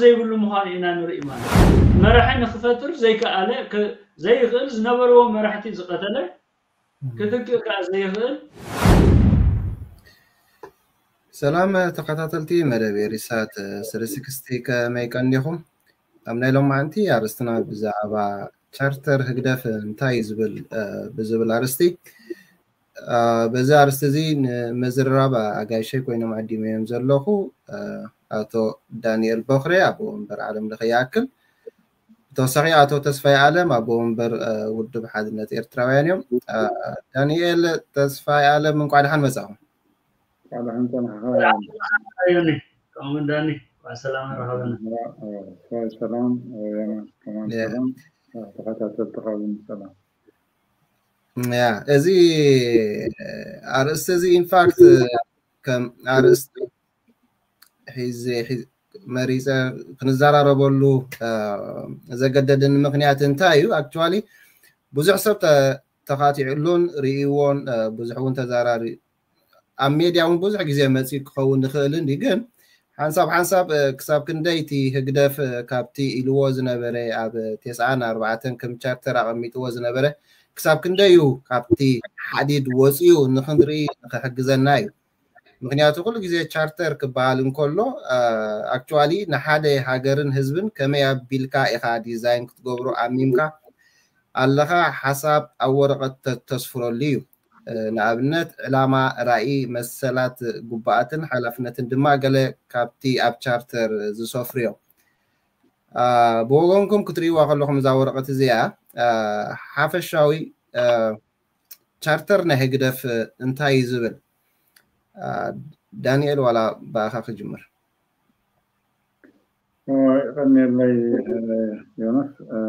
ዘይብሉ ምዃኑ ኢና ንርኢ ማለት እዩ። መራሒ ንክፈጥር ዘይከኣለ፣ ከ-፣ ዘይኽእል፣ ዝነበርዎ መራሕቲ ዝቐተለ፣ ክትክእ ከኣ ዘይኽእል። ሰላም ተኸታተልቲ መደብ ኤሪሳት ስሪ ስክስቲ፣ ከመይ ቀኒኹም? ኣብ ናይ ሎማዓንቲ ኣርእስትና ብዛዕባ ቻርተር ህግደፍ እንታይ እዩ ዝብል፣ እ፣ ብዝብል ኣርእስቲ፣ እ፣ በዚ ኣርእስቲ እዚ ንምዝርራብ ኣጋይሸይ ኮይኖም ዓዲመዮም ዘለኹ፣ እ፣ ኣቶ ዳንኤል በኽሪ፣ ኣቦ ወንበር ዓለም ለኸ ይኣክል። ብተወሳኺ ኣቶ ተስፋይ ኣለም፣ ኣቦ ወንበር፣ እ፣ ውድብ ሓድነት ኤርትራውያን እዮም። እ፣ ዳንኤል ተስፋይ ኣለም፣ እንቋዕ ደሓን መጻኹም። ባዕልኽን ጸናሕኻ ዮኒ፣ ከምኡ ዳኒ፣ እንቋዕ ሰላም ረኸበና። ሰላም፣ ሰላም፣ ዮናስ፣ ከማን ያ። ሰላም፣ ተኸታተልቲ ካብን ሰላም። ያ፣ እዚ ኣርእስቲ እዚ ኢንፋክት ከም ኣርእስቲ ሒዘ፣ ሒ-፣ መሪፀ ክንዘራረበሉ፣ እ፣ ዘገደደኒ ምክንያት እንታይ እዩ? ኣክቹዋሊ ብዙሕ ሰብ ተ-፣ ተኻቲዕሉን ርእይዎን፣ እ፣ ብዙሕ እውን ተዛራሪ-፣ ኣብ ሜድያ እውን ብዙሕ ግዜ መፂኡ ክኸውን ይኽእል እንዲ፣ ግን ሓንሳብ ሓንሳብ፣ እ፣ ክሳብ ክንደይ እቲ ህግደፍ፣ እ፣ ካብቲ ኢልዎ ዝነበረ ኣብ ቴስዓን ኣርባዕተን ከም ቻርተር ኣቐሚጥዎ ዝነበረ ክሳብ ክንደይ እዩ ካብቲ ሓዲድ ወፂኡ ንክንርኢ ንክሕግዘና እዩ። ምክንያቱ ኩሉ ግዜ ቻርተር ክበሃል እንከሎ፣ እ፣ ኣክቹዋሊ ንሓደ ሃገርን ህዝብን ከመይ ኣቢልካ ኢኻ ዲዛይን ክትገብሮ ኣሚምካ ኣለኻ፣ ሓሳብ ኣብ ወረቐት ተ-፣ ተስፍረሉ እዩ። እ፣ ንኣብነት ዕላማ፣ ራእይ፣ መሰላት፣ ግቡኣትን ሓላፍነትን ድማ ገለ ካብቲ ኣብ ቻርተር ዝሰፍሩ እዮም። እ፣ ብወገንኩም ክትርእይዋ ከለኹም እዛ ወረቐት እዚኣ፣ እ፣ ሓፈሻዊ፣ እ፣ ቻርተር ናይ ህግደፍ እንታይ እዩ ዝብል? እ፣ ዳንኤል ዋላ ብኣኻ ክጅምር። ኦ፣ የቐንየለይ፣ እ፣ ዮናስ። እ፣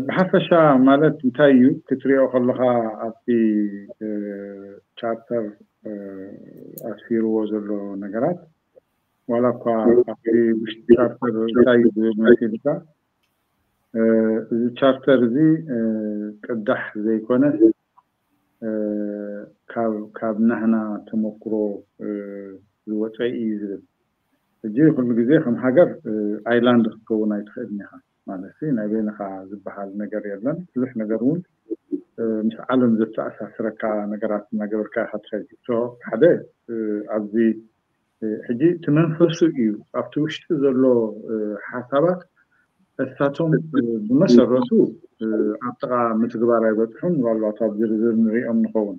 ብሓፈሻ ማለት እንታይ እዩ ክትሪኦ ከለኻ ኣብቲ፣ እ፣ ቻርተር፣ እ፣ ኣስፊርዎ ዘሎ ነገራት ዋላ እኳ ኣብቲ ውሽጢ ቻርተር እንታይ እዩ ዝብል መሲልካ፣ እ፣ እዚ ቻርተር እዚ፣ እ፣ ቅዳሕ ዘይኮነስ፣ እ፣ ካብ፣ ካብ ናህና ተመክሮ፣ እ፣ ዝወፀ እዩ ዝብል። ሕጂ ኩሉ ግዜ ከም ሃገር፣ እ፣ ኣይላንድ ክትከውን ኣይትኽእልን ኢኻ። ማለት ሲ ናይ በይንኻ ዝበሃል ነገር የለን። ብዙሕ ነገር እውን፣ እ፣ ምስ ዓለም ዘተኣሳስረካ ነገራት እናገበርካ ኢኻ ትኸይድ። ሶ ሓደ፣ እ፣ ኣብዚ፣ እ፣ ሕጂ እቲ መንፈሱ እዩ ኣብቲ ውሽጢ ዘሎ፣ እ፣ ሓሳባት እሳቶም፣ እ፣ ብመሰረቱ፣ እ፣ ኣብ ጥቓ ምትግባር ኣይበፅሑን። ምናልባት ኣብ ዝርዝር ንሪኦም ንኸውን።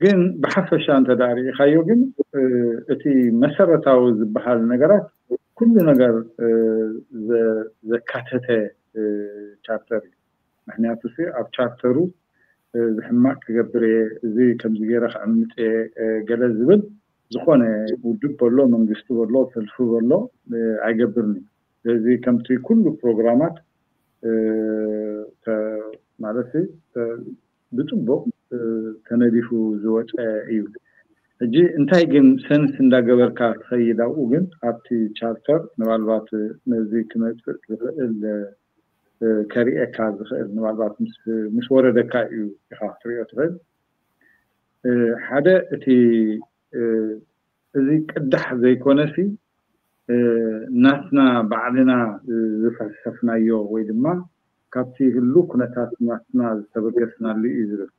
ግን ብሓፈሻ እንተ ደኣ ርኢኻዮ ግን፣ እ፣ እቲ መሰረታዊ ዝበሃል ነገራት ኩሉ ነገር፣ እ፣ ዘ-፣ ዘካተተ፣ እ፣ ቻርተር እዩ። ምክንያቱ ሲ ኣብ ቻርተሩ፣ እ፣ እዚ ሕማቕ ክገብር እየ፣ እዚ ከምዚ ገይረ ክዕምፅ እየ፣ እ፣ ገለ ዝብል ዝኾነ ውድብ በሎ፣ መንግስቲ በሎ፣ ሰልፊ በሎ፣ እ፣ ኣይገብርን እዩ። ስለዚ ከምቲ ኩሉ ፕሮግራማት፣ እ፣ ተ-፣ ማለት ሲ፣ ተ-፣ ብፅቡቕ፣ እ፣ ተነዲፉ ዝወፀ እዩ። ሕጂ እንታይ ግን ሰንስ እንዳገበርካ ትኸይድ ኣብኡ ግን ኣብቲ ቻርተር ምናልባት ነዚ ክመፅእ ዝኽእል፣ እ፣ ከርእየካ ዝኽእል ምናልባት ምስ፣ ምስ ወረደካ እዩ ኢኻ ክትሪኦ ትኽእል። እ፣ ሓደ እቲ፣ እ፣ እዚ ቅዳሕ ዘይኮነሲ፣ እ፣ ናትና ባዕልና ዝፈልሰፍናዮ ወይ ድማ ካብቲ ህሉ ኩነታት ናትና ዝተበገስናሉ እዩ ዝብል።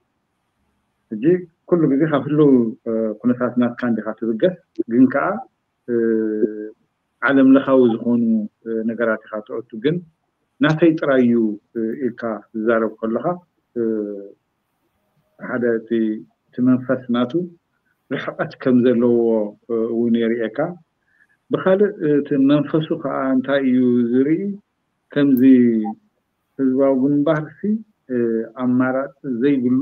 ሕጂ ኩሉ ግዜ ካብ ህሉ፣ እ፣ ኩነታት ናትካ እንዲኻ ትብገስ፣ ግን ከኣ፣ እ፣ ዓለም ለኻዊ ዝኾኑ፣ እ፣ ነገራት ኢኻ ትኣቱ። ግን ናተይ ጥራይ እዩ፣ እ፣ ኢልካ ትዛረብ ከለኻ፣ እ፣ ሓደ እቲ፣ እቲ መንፈስ ናቱ ርሕቐት ከም ዘለዎ፣ እ፣ እውን የርእየካ። ብኻልእ እቲ መንፈሱ ከዓ እንታይ እዩ ዝርኢ? ከምዚ ህዝባዊ ግንባርሲ፣ እ፣ ኣማራፂ ዘይብሉ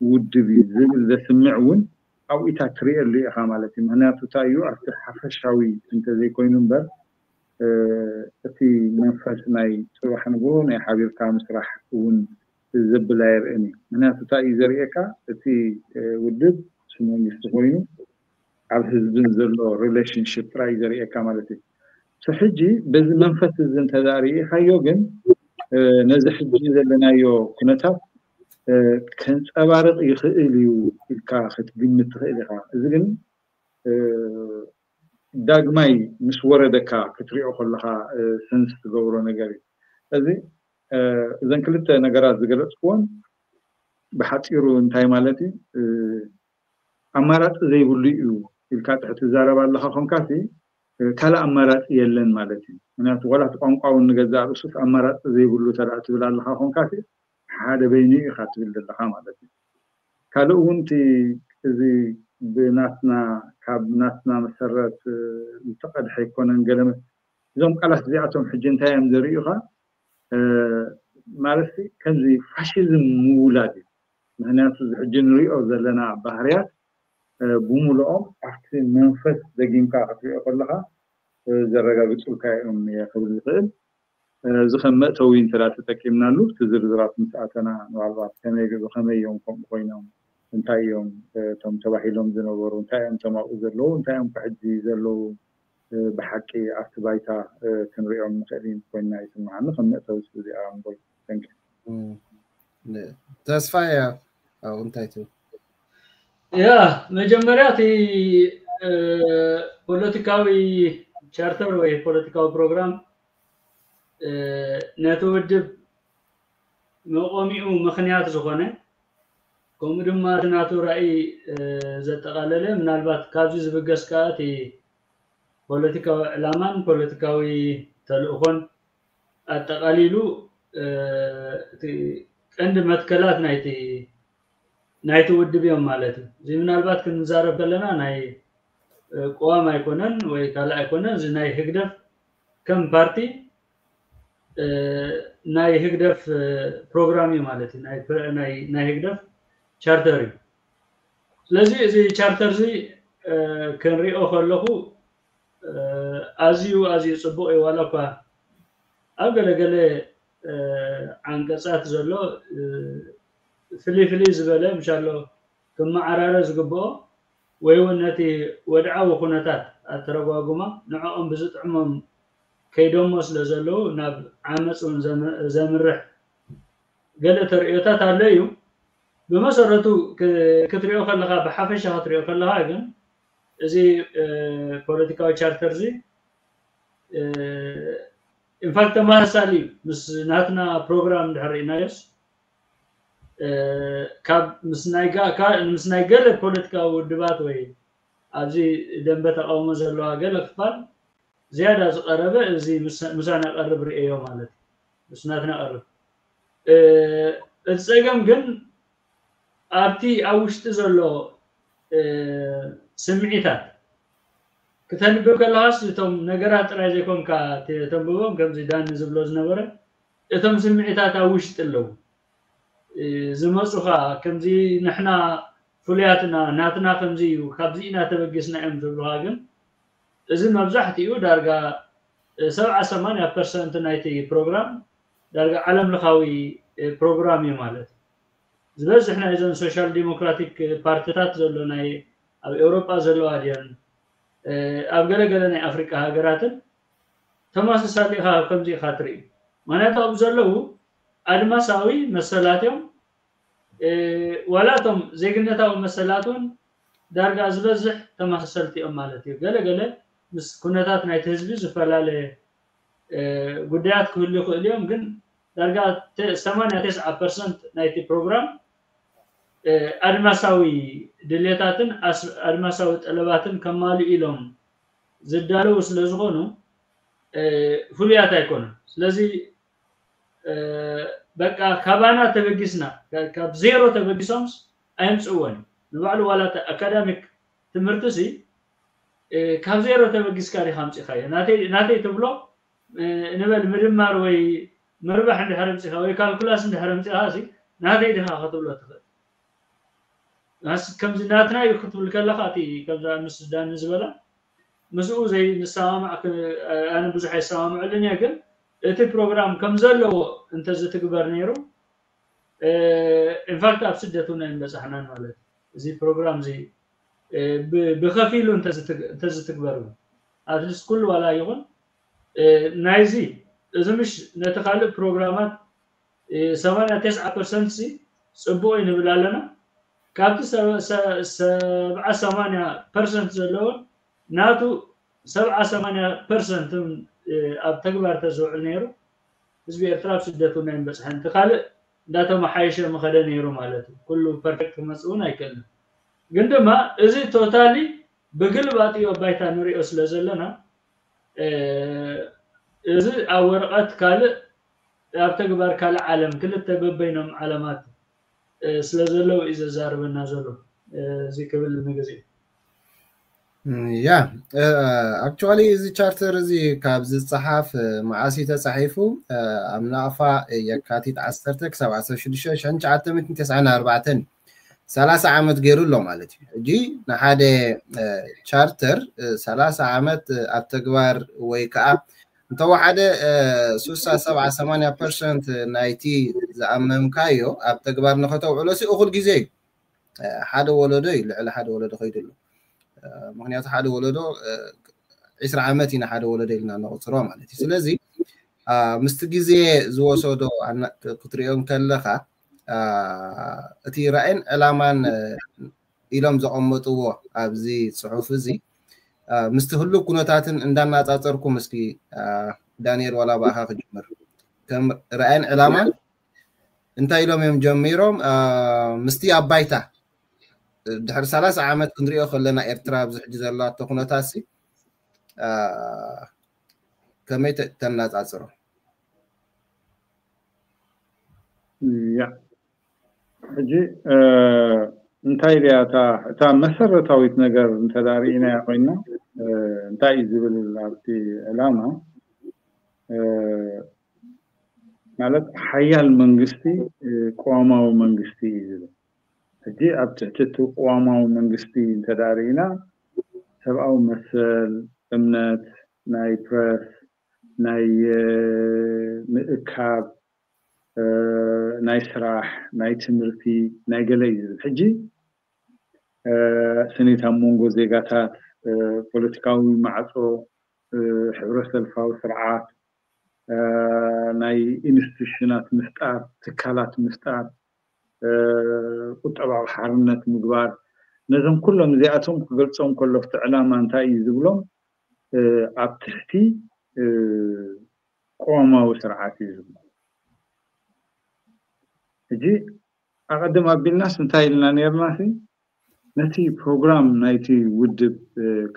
ውድብ እዩ ዝብል ዘስምዕ እውን ኣብኡታት ትርእየሉ ኢኻ ማለት እዩ። ምክንያቱ እንታይ እዩ? ኣብቲ ሓፈሻዊ እንተዘይኮይኑ እምበር፣ እ፣ እቲ መንፈስ ናይ ፅባሕ ንግሆ ናይ ሓቢርካ ምስራሕ እውን ዘብል ኣየርእን እዩ። ምክንያቱ እንታይ እዩ ዘርእየካ? እቲ፣ እ፣ ውድብ፣ እቲ መንግስቲ ኮይኑ ኣብ ህዝብን ዘሎ ሪሌሽንሽፕ ጥራይ እዩ ዘርእየካ ማለት እዩ። ሶ ሕጂ በዚ መንፈስ እዚ እንተደኣ ርኢኻዮ ግን፣ እ፣ ነዚ ሕጂ ዘለናዮ ኩነታት፣ እ፣ ከንፀባርቕ ይኽእል እዩ ኢልካ ክትግምት ትኽእል ኢኻ። እዚ ግን፣ እ፣ ዳግማይ ምስ ወረደካ ክትሪኦ ከለኻ ሰንስ ትገብሮ ነገር እዩ። እዚ እዘን ክልተ ነገራት ዝገለፅክዎን ብሓፂሩ እንታይ ማለት እዩ? ኣማራፂ ዘይብሉ እዩ ኢልካ ጥሕ ትዛረብ ኣለኻ ኮንካሲ ካልእ ኣማራፂ የለን ማለት እዩ። ምክንያቱ ዋላ እቲ ቋንቋ እውን ንገዛእ ርእሱስ ኣማራፂ ዘይብሉ ተዳ ትብል ኣለኻ ኮንካሲ ሓደ በይኑ ኢኻ ትብል ዘለኻ ማለት እዩ። ካልእ እውን እቲ እዚ ብናትና ካብ ናትና መሰረት ዝተቐድሐ ኣይኮነን ገለ እዞም ቃላት እዚኣቶም ሕጂ እንታይ እዮም ዘርእዩኻ? ማለት ከምዚ ፋሽዝም ምውላድ እዩ። ምክንያቱ እዚ ሕጂ ንሪኦ ዘለና ባህርያት ብሙሉኦም ኣብቲ መንፈስ ደጊምካ ክትሪኦ ከለኻ ዘረጋግፁልካ እዮም እየ ክብል ዝኽእል። እዚ ከም መእተዊ እንተ ተጠቂምናሉ እቲ ዝርዝራት ምስ ኣተና ንባልባት ከመይ ብኸመይ እዮም ከምኡ ኮይኖም እንታይ እዮም እቶም ተባሂሎም ዝነበሩ እንታይ እዮም እቶም ኣብኡ ዘለዉ እንታይ እዮም ሕጂ ዘለዉ ብሓቂ ኣብቲ ባይታ ክንሪኦም ንኽእል ኢና ኮይንና ይስምዓኒ ከም መእተዊ እዚኣ እምበር። ተስፋ እያ ኣብኡ እንታይ ትብል? ያ መጀመርያ እቲ ፖለቲካዊ ቻርተር ወይ ፖለቲካዊ ፕሮግራም ነቲ ውድብ መቆሚኡ ምክንያት ዝኾነ ከምኡ ድማ እቲ ናቱ ራእይ ዘጠቓለለ ምናልባት ካብዚ ዝብገስ ከዓ እቲ ፖለቲካዊ ዕላማን ፖለቲካዊ ተልእኾን ኣጠቓሊሉ እቲ ቀንዲ መትከላት ናይቲ ናይቲ ውድብ እዮም ማለት እዩ። እዚ ምናልባት ክንዛረብ ከለና ናይ ቅዋም ኣይኮነን ወይ ካልእ ኣይኮነን። እዚ ናይ ህግደፍ ከም ፓርቲ ናይ ህግደፍ ፕሮግራም እዩ ማለት እዩ። ናይ ህግደፍ ቻርተር እዩ። ስለዚ እዚ ቻርተር እዚ ክንሪኦ ከለኹ ኣዝዩ ኣዝዩ ፅቡቕ እዩ። ዋላ እኳ ኣብ ገለገለ ዓንቀፃት ዘሎ ፍልይ ፍልይ ዝበለ ምሻሎ ክመዓራረ ዝግብኦ ወይ እውን ነቲ ወድዓዊ ኩነታት ኣተረጓጉማ ንዕኦም ብዝጥዕሞም ከይዶሞ ስለ ዘለዉ ናብ ዓመፅ እውን ዘምርሕ ገለ ተርእዮታት ኣሎ እዩ። ብመሰረቱ ክትሪኦ ከለካ ብሓፈሻ ክትሪኦ ከለካ ግን እዚ ፖለቲካዊ ቻርተር እዚ ኢንፋክት ተመሳሳሊ ምስ ናትና ፕሮግራም እንድሕር ርኢናዮስ ካብ ምስ ናይ ገለ ፖለቲካዊ ውድባት ወይ ኣብዚ ደንበ ተቃውሞ ዘለዋ ገለ ክፋል ዝያዳ ዝቀረበ እዚ ምሳና ቀርብ ርእዮ ማለት እዩ። ምስ ናትና ቀርብ እቲ ፀገም ግን ኣብቲ ኣብ ውሽጢ ዘሎ ስምዒታት ክተንብብ ከለካስ እቶም ነገራት ጥራይ ዘይኮንካ ተንብቦም ከምዚ ዳኒ ዝብሎ ዝነበረ እቶም ስምዒታት ኣብ ውሽጢ ኣለዉ ዝመፁኻ ከምዚ ንሕና ፍሉያትና ናትና ከምዚ እዩ ካብዚ ኢና ተበጊስና እዮም ዝብሉካ ግን እዚ መብዛሕትኡ ዳርጋ ሰብዓ ሰማንያ ፐርሰንት ናይቲ ፕሮግራም ዳርጋ ዓለም ለኻዊ ፕሮግራም እዩ ማለት እዩ። ዝበዝሕ ናይዘን ሶሻል ዲሞክራቲክ ፓርቲታት ዘሎ ናይ ኣብ ኤውሮጳ ዘለዋ ድየን ኣብ ገለገለ ናይ ኣፍሪቃ ሃገራትን ተመሳሳሊ ኢኻ ከምዚ ኢኻ ትርኢ። ምክንያቱ ኣብ ዘለዉ ኣድማሳዊ መሰላት እዮም። ዋላ እቶም ዜግነታዊ መሰላት እውን ዳርጋ ዝበዝሕ ተመሳሰልቲ እዮም ማለት እዩ። ገለገለ ምስ ኩነታት ናይቲ ህዝቢ ዝፈላለ ጉዳያት ክህሉ ይኽእሉ እዮም፣ ግን ዳርጋ ሰማንያ ተስዓ ፐርሰንት ናይቲ ፕሮግራም ኣድማሳዊ ድሌታትን ኣድማሳዊ ጠለባትን ከማልኡ ኢሎም ዝዳለዉ ስለ ዝኾኑ ፍሉያት ኣይኮኑን። ስለዚ በቃ ካባና ተበጊስና ካብ ዜሮ ተበጊሶምስ ኣየምፅእዎን እዩ። ንባዕሉ ዋላ ኣካዳሚክ ትምህርቲ ሲ ካብ ዜሮ ተበጊስካ ዲካ ኣምፂካዮ ናተይ ትብሎ ንበል ምድማር ወይ ምርባሕ እንድሕር ኣምፂካ ወይ ካልኩላስ እንድሕር ኣምፂካ ሲ ናተይ ዲካ ክትብሎ ትኽእል። ከምዚ ናትና እዩ ክትብል ከለካ እቲ ከምዛ ምስ ዳኒ ዝበላ ምስኡ ዘይንሰማማዕ ኣነ ብዙሕ ኣይሰማምዐሉን እየ ግን እቲ ፕሮግራም ከም ዘለዎ እንተዝትግበር ነይሩ ኢንፋክት ኣብ ስደት እውን ኣይምበፃሕናን ማለት እዩ። እዚ ፕሮግራም እዚ ብከፊሉ እንተዝትግበር እውን ኣትሊስት ኩሉ ዋላ ይኹን ናይዚ እዚ ምሽ ነቲ ካልእ ፕሮግራማት ሰማንያ ተስዓ ፐርሰንት ሲ ፅቡቅ እዩ ንብል ኣለና። ካብቲ ሰብዓ ሰማንያ ፐርሰንት ዘለውን ናቱ ሰብዓ ሰማንያ ፐርሰንት ኣብ ተግባር ተዝውዕል ነይሩ ህዝቢ ኤርትራ ኣብ ስደት እውን ኣይምበፅሐን። እቲ ካልእ እንዳተመሓየሸ ምኸደ ነይሩ ማለት እዩ። ኩሉ ፐርፌክት ክመፅእ እውን ኣይክእልን። ግን ድማ እዚ ቶታሊ ብግልባጥ እዩ ኣብ ባይታ ንሪኦ ስለ ዘለና እዚ ኣብ ወረቐት ካልእ ኣብ ተግባር ካልእ ዓለም ክልተ በበይኖም ዓለማት ስለ ዘለዉ እዩ ዘዛርበና ዘሎ። እዚ ክብል ንግዜ ያ ኣክቹዋሊ እዚ ቻርተር እዚ ካብ ዝፀሓፍ መዓስ እዩ ተፃሒፉ? ኣብ ናቕፋ የካቲት ዓሰርተ ክሳብ ዓሰርተ ሽዱሽተ ሺሕ ትሽዓተ ሚእትን ተስዓን ኣርባዕተን ሰላሳ ዓመት ገይሩ ኣሎ ማለት እዩ። ሕጂ ንሓደ ቻርተር ሰላሳ ዓመት ኣብ ተግባር ወይ ከዓ እንተወሓደ ስሳ ሰብዓ ሰማንያ ፐርሰንት ናይቲ ዝኣመምካዮ ኣብ ተግባር ንኸተውዕሎ ሲ እኹል ግዜ እዩ። ሓደ ወለዶ እዩ ልዕሊ ሓደ ወለዶ ከይዱ ኣሎ። ምክንያቱ ሓደ ወለዶ ዒስራ ዓመት ኢና ሓደ ወለዶ ኢልና ንቁፅሮ ማለት እዩ። ስለዚ ምስቲ ግዜ ዝወሰዶ ክትሪኦ ከለካ እቲ ራእይን ዕላማን ኢሎም ዘቐመጥዎ ኣብዚ ፅሑፍ እዚ ምስቲ ህሉው ኩነታትን እንዳናፃፀርኩም እስኪ ዳንኤል ዋላ ብኣኻ ክጅምር። ከም ራእይን ዕላማን እንታይ ኢሎም እዮም ጀሚሮም? ምስቲ ኣብ ባይታ ድሕሪ ሰላሳ ዓመት ክንሪኦ ከለና ኤርትራ ኣብዚ ሕጂ ዘለዋቶ ኩነታት ሲ ከመይ ተናፃፅሮ? ያ ሕጂ እንታይ ድያ እታ መሰረታዊት ነገር እንተዳ ርኢናያ ኮይና እንታይ እዩ ዝብል ኣብቲ ዕላማ ማለት ሓያል መንግስቲ ቅዋማዊ መንግስቲ እዩ ዝብል። ሕጂ ኣብ ትሕቲ እቲ ቅዋማዊ መንግስቲ እንተዳ ርኢና ሰብኣዊ መሰል፣ እምነት፣ ናይ ፕረስ፣ ናይ ምእካብ፣ ናይ ስራሕ፣ ናይ ትምህርቲ፣ ናይ ገለ እዩ ዝብል። ሕጂ ስኒት ኣብ መንጎ ዜጋታት፣ ፖለቲካዊ ማዕጾ፣ ሕብረተሰልፋዊ ስርዓት፣ ናይ ኢንስቲቱሽናት ምፍጣር፣ ትካላት ምፍጣር፣ ቁጠባዊ ሓርነት ምግባር፣ ነዞም ኩሎም እዚኣቶም ክገልጾም ከሎ እቲ ዕላማ እንታይ እዩ ዝብሎም ኣብ ትሕቲ ቅዋማዊ ስርዓት እዩ ዝብሎ። ሕጂ ኣቐድም ኣቢልናስ እንታይ ኢልና ነርና ሲ ነቲ ፕሮግራም ናይቲ ውድብ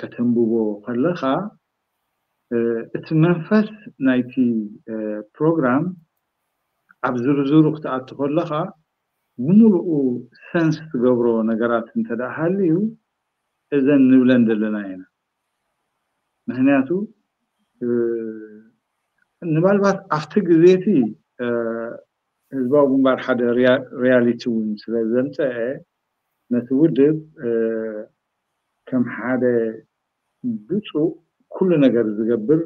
ከተንብቦ ከለኻ እቲ መንፈስ ናይቲ ፕሮግራም ኣብ ዝርዝሩ ክትኣቱ ከለኻ ብምሉኡ ሰንስ ትገብሮ ነገራት እንተ ደኣ ሃልዩ እዘን ንብለን ዘለና ኢና። ምክንያቱ ንባልባት ኣብቲ ግዜ እቲ ህዝባዊ ግንባር ሓደ ሪያሊቲ እውን ስለ ዘምፀአ ነቲ ውድብ ከም ሓደ ብፁእ ኩሉ ነገር ዝገብር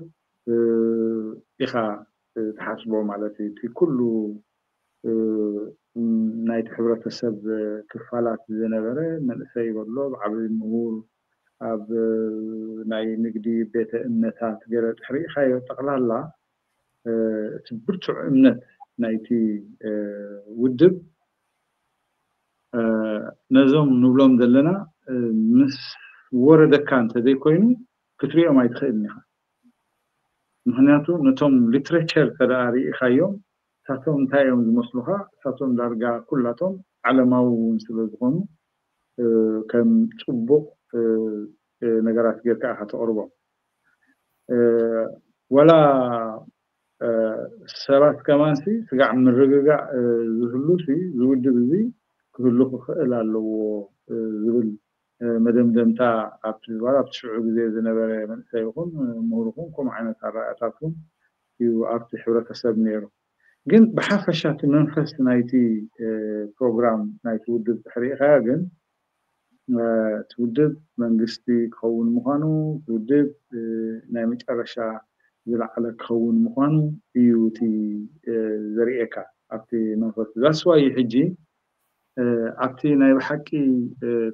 ኢኻ ትሓስቦ ማለት እዩ። እቲ ኩሉ ናይቲ ሕብረተሰብ ክፋላት ዝነበረ መንእሰይ በሎ ብዓብይ ምሁር ኣብ ናይ ንግዲ ቤተ እምነታት ገለ ትሕሪእኻዮ ጠቕላላ እቲ ብርቱዕ እምነት ናይቲ ውድብ ነዞም ንብሎም ዘለና ምስ ወረደካ እንተዘይኮይኑ ክትሪኦም ኣይትኽእልን ኢኻ። ምክንያቱ ነቶም ሊትሬቸር ተደኣ ርኢኻዮም እሳቶም እንታይ እዮም ዝመስሉኻ? እሳቶም ዳርጋ ኩላቶም ዓለማዊ እውን ስለ ዝኾኑ ከም ፅቡቕ ነገራት ጌርካ ኢኻ ተቕርቦም። ወላ ሰባት ከማንሲ ስጋዕ ምርግጋዕ ዝህሉሲ ዝውድብ እዚ ክህሉ ክኽእል ኣለዎ ዝብል መደምደምታ ኣብቲ ዋላ ኣብቲ ሽዑ ግዜ ዝነበረ መንእሰይ ይኹን ምሁር ይኹን ከምኡ ዓይነት ኣረኣእያታት እውን እዩ ኣብቲ ሕብረተሰብ ነይሩ። ግን ብሓፈሻ እቲ መንፈስ ናይቲ ፕሮግራም ናይቲ ውድብ ተሕሪእኻዮ ግን እቲ ውድብ መንግስቲ ክኸውን ምዃኑ እቲ ውድብ ናይ መጨረሻ ዝለዓለ ክኸውን ምዃኑ እዩ እቲ ዘርእየካ ኣብቲ መንፈስ that's why እዩ ሕጂ ኣብቲ ናይ ብሓቂ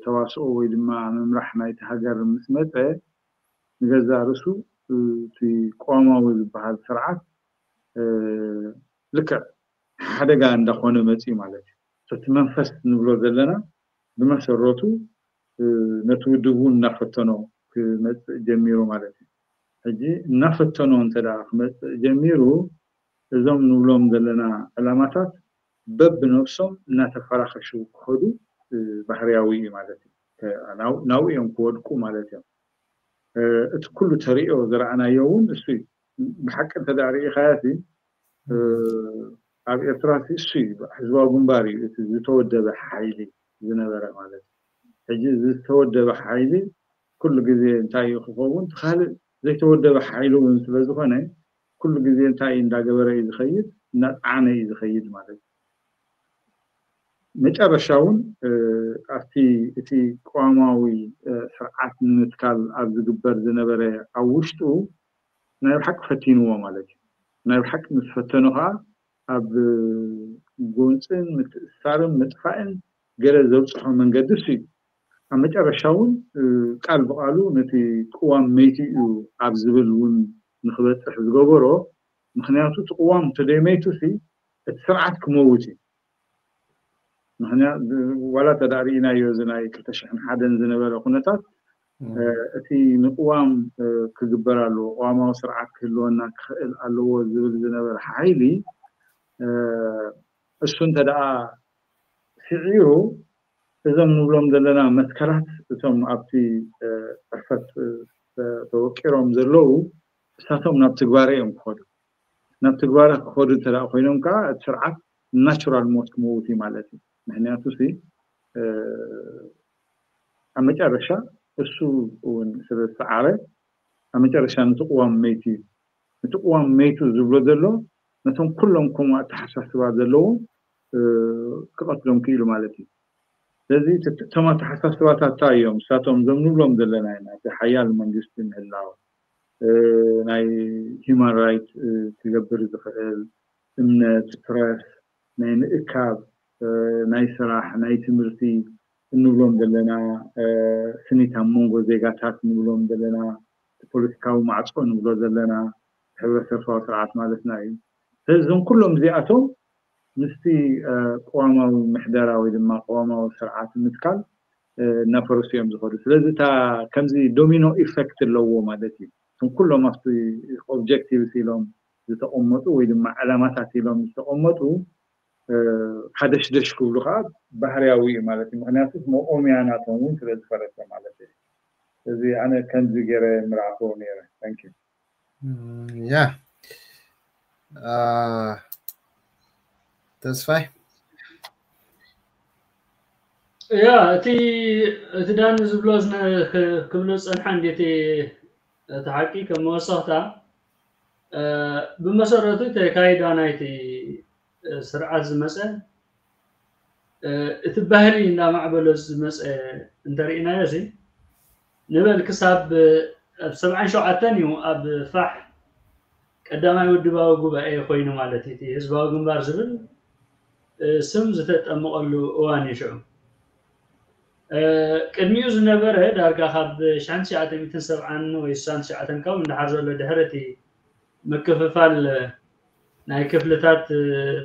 ተዋስኦ ወይ ድማ ምምራሕ ናይቲ ሃገር ምስ መፀ ንገዛእ ርእሱ እቲ ቅዋማዊ ዝበሃል ስርዓት ልክዕ ሓደጋ እንዳኾነ መፅዩ ማለት እዩ። እቲ መንፈስ ንብሎ ዘለና ብመሰረቱ ነቲ ውድብ እውን እናፈተኖ ክመፅእ ጀሚሩ ማለት እዩ። ሕጂ እናፈተኖ እንተ ደኣ ክመፅእ ጀሚሩ፣ እዞም ንብሎም ዘለና ዕላማታት በብነብሶም እናተፈራኸሹ ክኸዱ ባህርያዊ እዩ ማለት እዩ። ናብኡ እዮም ክወድቁ ማለት እዮም። እቲ ኩሉ ተሪኦ ዝረኣናዮ እውን እሱ እዩ። ብሓቂ እንተ ደኣ ርኢኻዮ ኣብ ኤርትራ እሱ እዩ፣ ህዝባዊ ግንባር እዩ እቲ ዝተወደበ ሓይሊ ዝነበረ ማለት እዩ። ሕጂ ዝተወደበ ሓይሊ ኩሉ ግዜ እንታይ እዩ ክኸውን? ካልእ ዘይተወደበ ሓይሊ እውን ስለ ዝኾነ ኩሉ ግዜ እንታይ እንዳገበረ እዩ ዝኸይድ? እናፀዓነ እዩ ዝኸይድ ማለት እዩ። መጨረሻ እውን ኣብቲ እቲ ቅዋማዊ ስርዓት ንምትካል ኣብ ዝግበር ዝነበረ ኣብ ውሽጡ ናይ ብሓቂ ፈቲንዎ ማለት እዩ። ናይ ብሓቂ ምስ ፈተኑ ከዓ ኣብ ጎንፅን ምትእሳርን ምጥፋእን ገለ ዘብፅሖ መንገዲ እሱ እዩ። ኣብ መጨረሻ እውን ቃል ብቃሉ ነቲ ቅዋም መይቱ እዩ ኣብ ዝብል እውን ንክበፅሕ ዝገበሮ። ምክንያቱ እቲ ቅዋም እንተደይመይቱ ሲ እቲ ስርዓት ክመውት እዩ። ምክንያቱ ዋላ ተዳእ ርኢናዮ እዚ ናይ ክልተ ሽሕን ሓደን ዝነበረ ኩነታት እቲ ንቅዋም ክግበር ኣለዎ፣ ቅዋማዊ ስርዓት ክህልወና ክኽእል ኣለዎ ዝብል ዝነበረ ሓይሊ እሱ እንተ ደኣ ስዒሩ እዞም ንብሎም ዘለና መትከላት እቶም ኣብቲ ፅሕፈት ተወቂሮም ዘለዉ እሳቶም ናብ ትግባረ እዮም ክኸዱ። ናብ ትግባረ ክኸዱ እንተ ደኣ ኮይኖም ከዓ እቲ ስርዓት ናቹራል ሞት ክመውት እዩ ማለት እዩ። ምክንያቱ ሲ ኣብ መጨረሻ እሱ እውን ስለ ዝሰዓረ ኣብ መጨረሻ ነቲ ቅዋም መይቱ እዩ። ነቲ ቅዋም መይቱ ዝብሎ ዘሎ ነቶም ኩሎም ከምኡ ኣተሓሳስባ ዘለዎም ክቐትሎም ክኢሉ ማለት እዩ። ስለዚ እቶም ኣተሓሳስባታት እንታይ እዮም? ንሳቶም እዞም ንብሎም ዘለና ኢና፣ እቲ ሓያል መንግስቲ ምህላው፣ ናይ ሂማን ራይት ክገብር ዝኽእል እምነት፣ ፕረስ፣ ናይ ምእካብ፣ ናይ ስራሕ፣ ናይ ትምህርቲ እንብሎም ዘለና፣ ስኒት ኣብ መንጎ ዜጋታት እንብሎም ዘለና፣ ፖለቲካዊ ማዕፆ ንብሎ ዘለና፣ ሕብረተሰባዊ ስርዓት ማለትና እዩ። ስለዚ እዞም ኩሎም እዚኣቶም ምስቲ ቅዋማዊ ምሕደራ ወይ ድማ ቅዋማዊ ስርዓት ምትካል እናፈረሱ እዮም ዝኸዱ። ስለዚ እታ ከምዚ ዶሚኖ ኢፌክት ኣለዎ ማለት እዩ። እቶም ኩሎም ኣብቲ ኦብጀክቲቭስ ኢሎም ዝተቐመጡ ወይ ድማ ዕላማታት ኢሎም ዝተቐመጡ ሓደሽደሽ ክብሉ ከዓ ባህርያዊ እዩ ማለት እዩ። ምክንያቱ መቆምያ ናቶም እውን ስለ ዝፈረሰ ማለት እዩ። እዚ ኣነ ከምዚ ገይረ ምርኣኽዎ ነይረ። Thank you። ያ ተስፋይ ያ እቲ እቲ ዳኒ ዝብሎ ክብሎ ዝፀንሐ እንዴት እቲ ሓቂ ከም መወሰኽታ ብመሰረቱ ተካይዳ ናይቲ ስርዓት ዝመፀ እቲ ባህሊ እናማዕበሎ ዝመፀ እንተርኢናዮ እዚ ንበል ክሳብ ኣብ ሰብዓን ሸውዓተን እዩ ኣብ ፋሕ ቀዳማይ ውድባዊ ጉባኤ ኮይኑ ማለት እቲ ህዝባዊ ግንባር ዝብል ስም ዝተጠመቐሉ እዋን እዩ ሽዑ። ቅድሚኡ ዝነበረ ዳርጋ ካብ ሽሕን ትሽዓተ ሚእትን ሰብዓን ወይ ስሳን ትሽዓተን ካብ እንዳሓር ዘሎ ድሕሪ እቲ ምክፍፋል ናይ ክፍልታት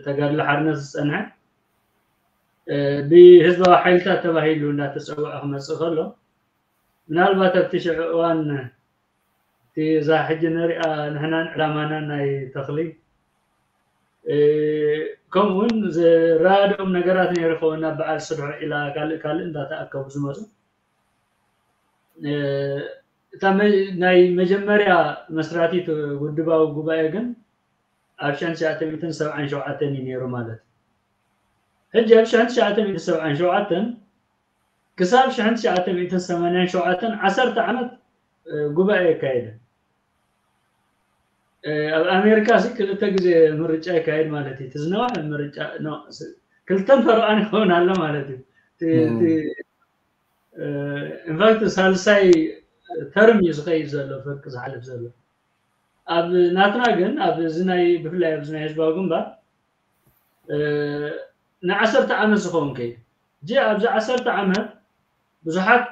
ተጋድሎ ሓርነት ዝፀንሐ ብህዝባዊ ሓይልታት ተባሂሉ እንዳተፀውዐ ክመፅእ ከሎ ምናልባት ኣብቲ ሽዑ እዋን እቲ እዛ ሕጂ ንሪኣ ንሕናን ዕላማናን ናይ ተኽሊ ከምኡ እውን ዝረዳድኦም ነገራት ነይሩ ከውን ናብ በዓል ስርሖ ኢላ ካልእ ካልእ እንዳተኣከቡ ዝመፁ እታ ናይ መጀመርያ መስራቲት ውድባዊ ጉባኤ ግን ኣብ ሽሕን ትሽዓተ ሚእትን ሰብዓን ሸውዓተን እዩ ነይሩ ማለት እዩ። ሕጂ ኣብ ሽሕን ትሽዓተ ሚእትን ሰብዓን ሸውዓተን ክሳብ ሽሕን ትሽዓተ ሚእትን ሰማንያን ሸውዓተን ዓሰርተ ዓመት ጉባኤ የካየደ። ኣብ ኣሜሪካ ሲ ክልተ ግዜ ምርጫ ይካየድ ማለት እዩ። ትዝነዋሕ ምርጫ ክልተን ፈረቓን ይኸውን ኣሎ ማለት እዩ። ኢንፋክት ሳልሳይ ተርም እዩ ዝኸይድ ዘሎ ፍርቂ ዝሓልፍ ዘሎ። ኣብ ናትና ግን ኣብ እዚ ናይ ብፍላይ ኣብዚ ናይ ህዝባዊ ግንባር ንዓሰርተ ዓመት ዝኸውን ከይዱ። እዚ ኣብዚ ዓሰርተ ዓመት ብዙሓት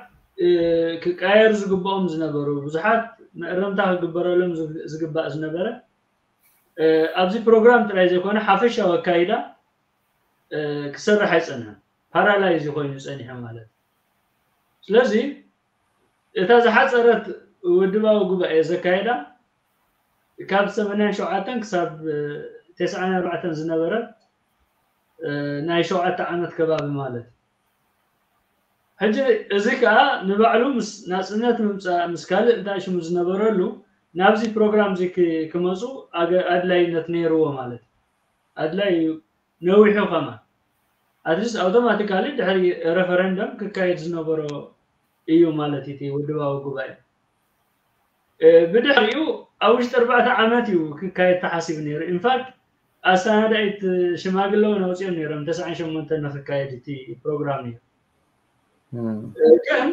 ክቀየሩ ዝግብኦም ዝነበሩ ብዙሓት መእረምታ ክግበረሎም ዝግባእ ዝነበረ ኣብዚ ፕሮግራም ጥራይ ዘይኮነ ሓፈሻዊ ኣካይዳ ክሰርሕ ኣይፀንሐን። ፓራላይዝ ኮይኑ ፀኒሐ ማለት እዩ። ስለዚ እታ ዝሓፀረት ውድባዊ ጉባኤ ዘካየዳ ካብ ሰማንያን ሸውዓተን ክሳብ ተስዓን ኣርባዕተን ዝነበረ ናይ ሸውዓተ ዓመት ከባቢ ማለት እዩ። ሕጂ እዚ ከዓ ንባዕሉ ምስ ናፅነት ምምፃእ ምስ ካልእ እንታይ ሽሙ ዝነበረሉ ናብዚ ፕሮግራም እዚ ክመፁ ኣድላይነት ነይርዎ ማለት እዩ። ኣድላይ እዩ ነዊሑ ከማን ኣትሊስት ኣውቶማቲካሊ ድሕሪ ሬፈረንደም ክካየድ ዝነበሮ እዩ ማለት እቲ ውድባዊ ጉባኤ። ብድሕሪኡ ኣብ ውሽጢ ኣርባዕተ ዓመት እዩ ክካየድ ተሓሲቡ ነይሩ። ኢንፋክት ኣሰናዳኢት ሽማግለ እውን ኣውፅኦም ነይሮም ተስዓን ሸሞንተን ንክካየድ እቲ ፕሮግራም እዩ። ግን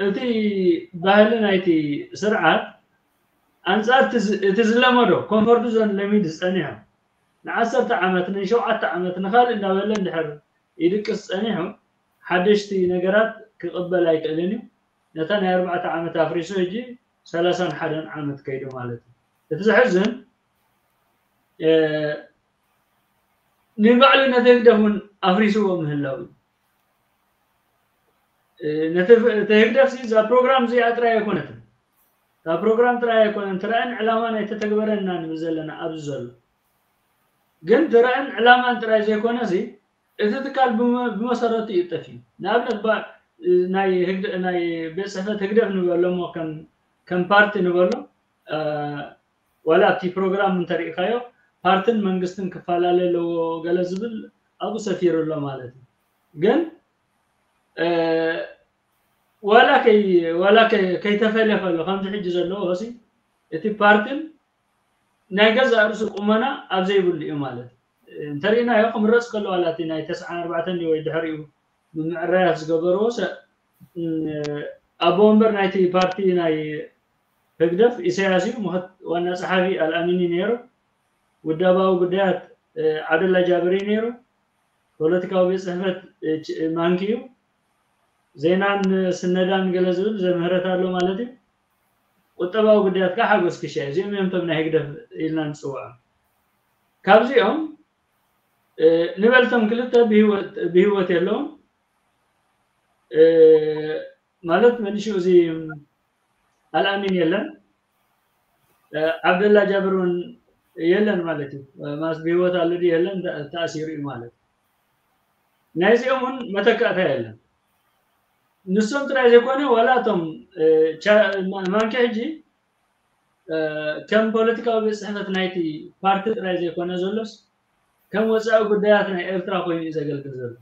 እቲ ባህሊ ናይቲ ስርዓት ኣንፃር እቲ ዝለመዶ ኮንፈርት ዞን ለሚድ ዝፀኒሖ ንዓሰርተ ዓመት ንሸውዓተ ዓመት ንካልእ እንዳበለ እንድሕር ይድቅስ ፀኒሑ ሓደሽቲ ነገራት ክቕበል ኣይክእልን እዩ። ነታ ናይ ኣርባዕተ ዓመት ኣፍሪሱ ሕጂ ሰላሳን ሓደን ዓመት ከይዱ ማለት እዩ። እቲ ዘሕዝን ንባዕሉ ነቲ ህግደፍ እውን ኣፍሪስዎ ምህላው እዩ። ነቲ ህግደፍ እዛ ፕሮግራም እዚኣ ጥራይ ኣይኮነትን። እታ ፕሮግራም ጥራይ ኣይኮነን ትራእን ዕላማን ኣይተተግበረና ንብል ዘለና ኣብዚ ዘሎ ግን ትራእን ዕላማን ጥራይ ዘይኮነ እዚ እቲ ትካል ብመሰረቱ ይጠፍ እዩ። ንኣብነት ናይ ቤት ፅሕፈት ህግደፍ ንበሎ እሞ ከም ፓርቲ ንበሎ ዋላ ኣብቲ ፕሮግራም እንተሪእካዮ ፓርትን መንግስትን ክፈላለ ኣለዎ ገለ ዝብል ኣብኡ ሰፊሩ ኣሎ ማለት እዩ። ግን ዋላ ከይተፈለ ከሎ ከምዚ ሕጂ ዘለዎ ሲ እቲ ፓርትን ናይ ገዛእ ርእሱ ቁመና ኣብ ዘይብሉ እዩ ማለት እዩ። እንተሪእናዮ ክምረፅ ከሎ ዋላ እቲ ናይ ተስዓን ኣርባዕተን ወይ ድሕሪኡ ምምዕራያት ዝገበርዎ ሰብ ኣቦ ወንበር ናይቲ ፓርቲ ናይ ህግደፍ ኢሳያስ እዩ። ዋና ጸሓፊ ኣልኣሚኒ ነይሩ። ውዳባዊ ጉዳያት ዓብደላ ጃብር እዩ ነይሩ። ፖለቲካዊ ቤት ጽሕፈት ማንኪ እዩ። ዜናን ስነዳን ገለ ዝብል ዘምህረት ኣሎ ማለት እዩ። ቁጠባዊ ጉዳያት ከዓ ሓጎስ ክሻ እዩ። እዚኦም እዮም እቶም ናይ ህግደፍ ኢልና ንፅውዖም። ካብዚኦም ንበልቶም ክልተ ብህይወት የለውን ማለት መሊሹ እዚ ኣልኣሚን የለን ዓብደላ ጃብር እውን የለን ማለት እዩ። ማስ ብህይወት ኣሎ ድዩ የለን ተኣሲሩ እዩ ማለት እዩ። ናይዚኦም እውን መተካእታ የለን። ንሶም ጥራይ ዘይኮነ ዋላ እቶም ማንኪ ሕጂ ከም ፖለቲካዊ ቤት ጽሕፈት ናይቲ ፓርቲ ጥራይ ዘይኮነ ዘሎስ ከም ወፃኢ ጉዳያት ናይ ኤርትራ ኮይኑ እዩ ዘገልግል ዘሎ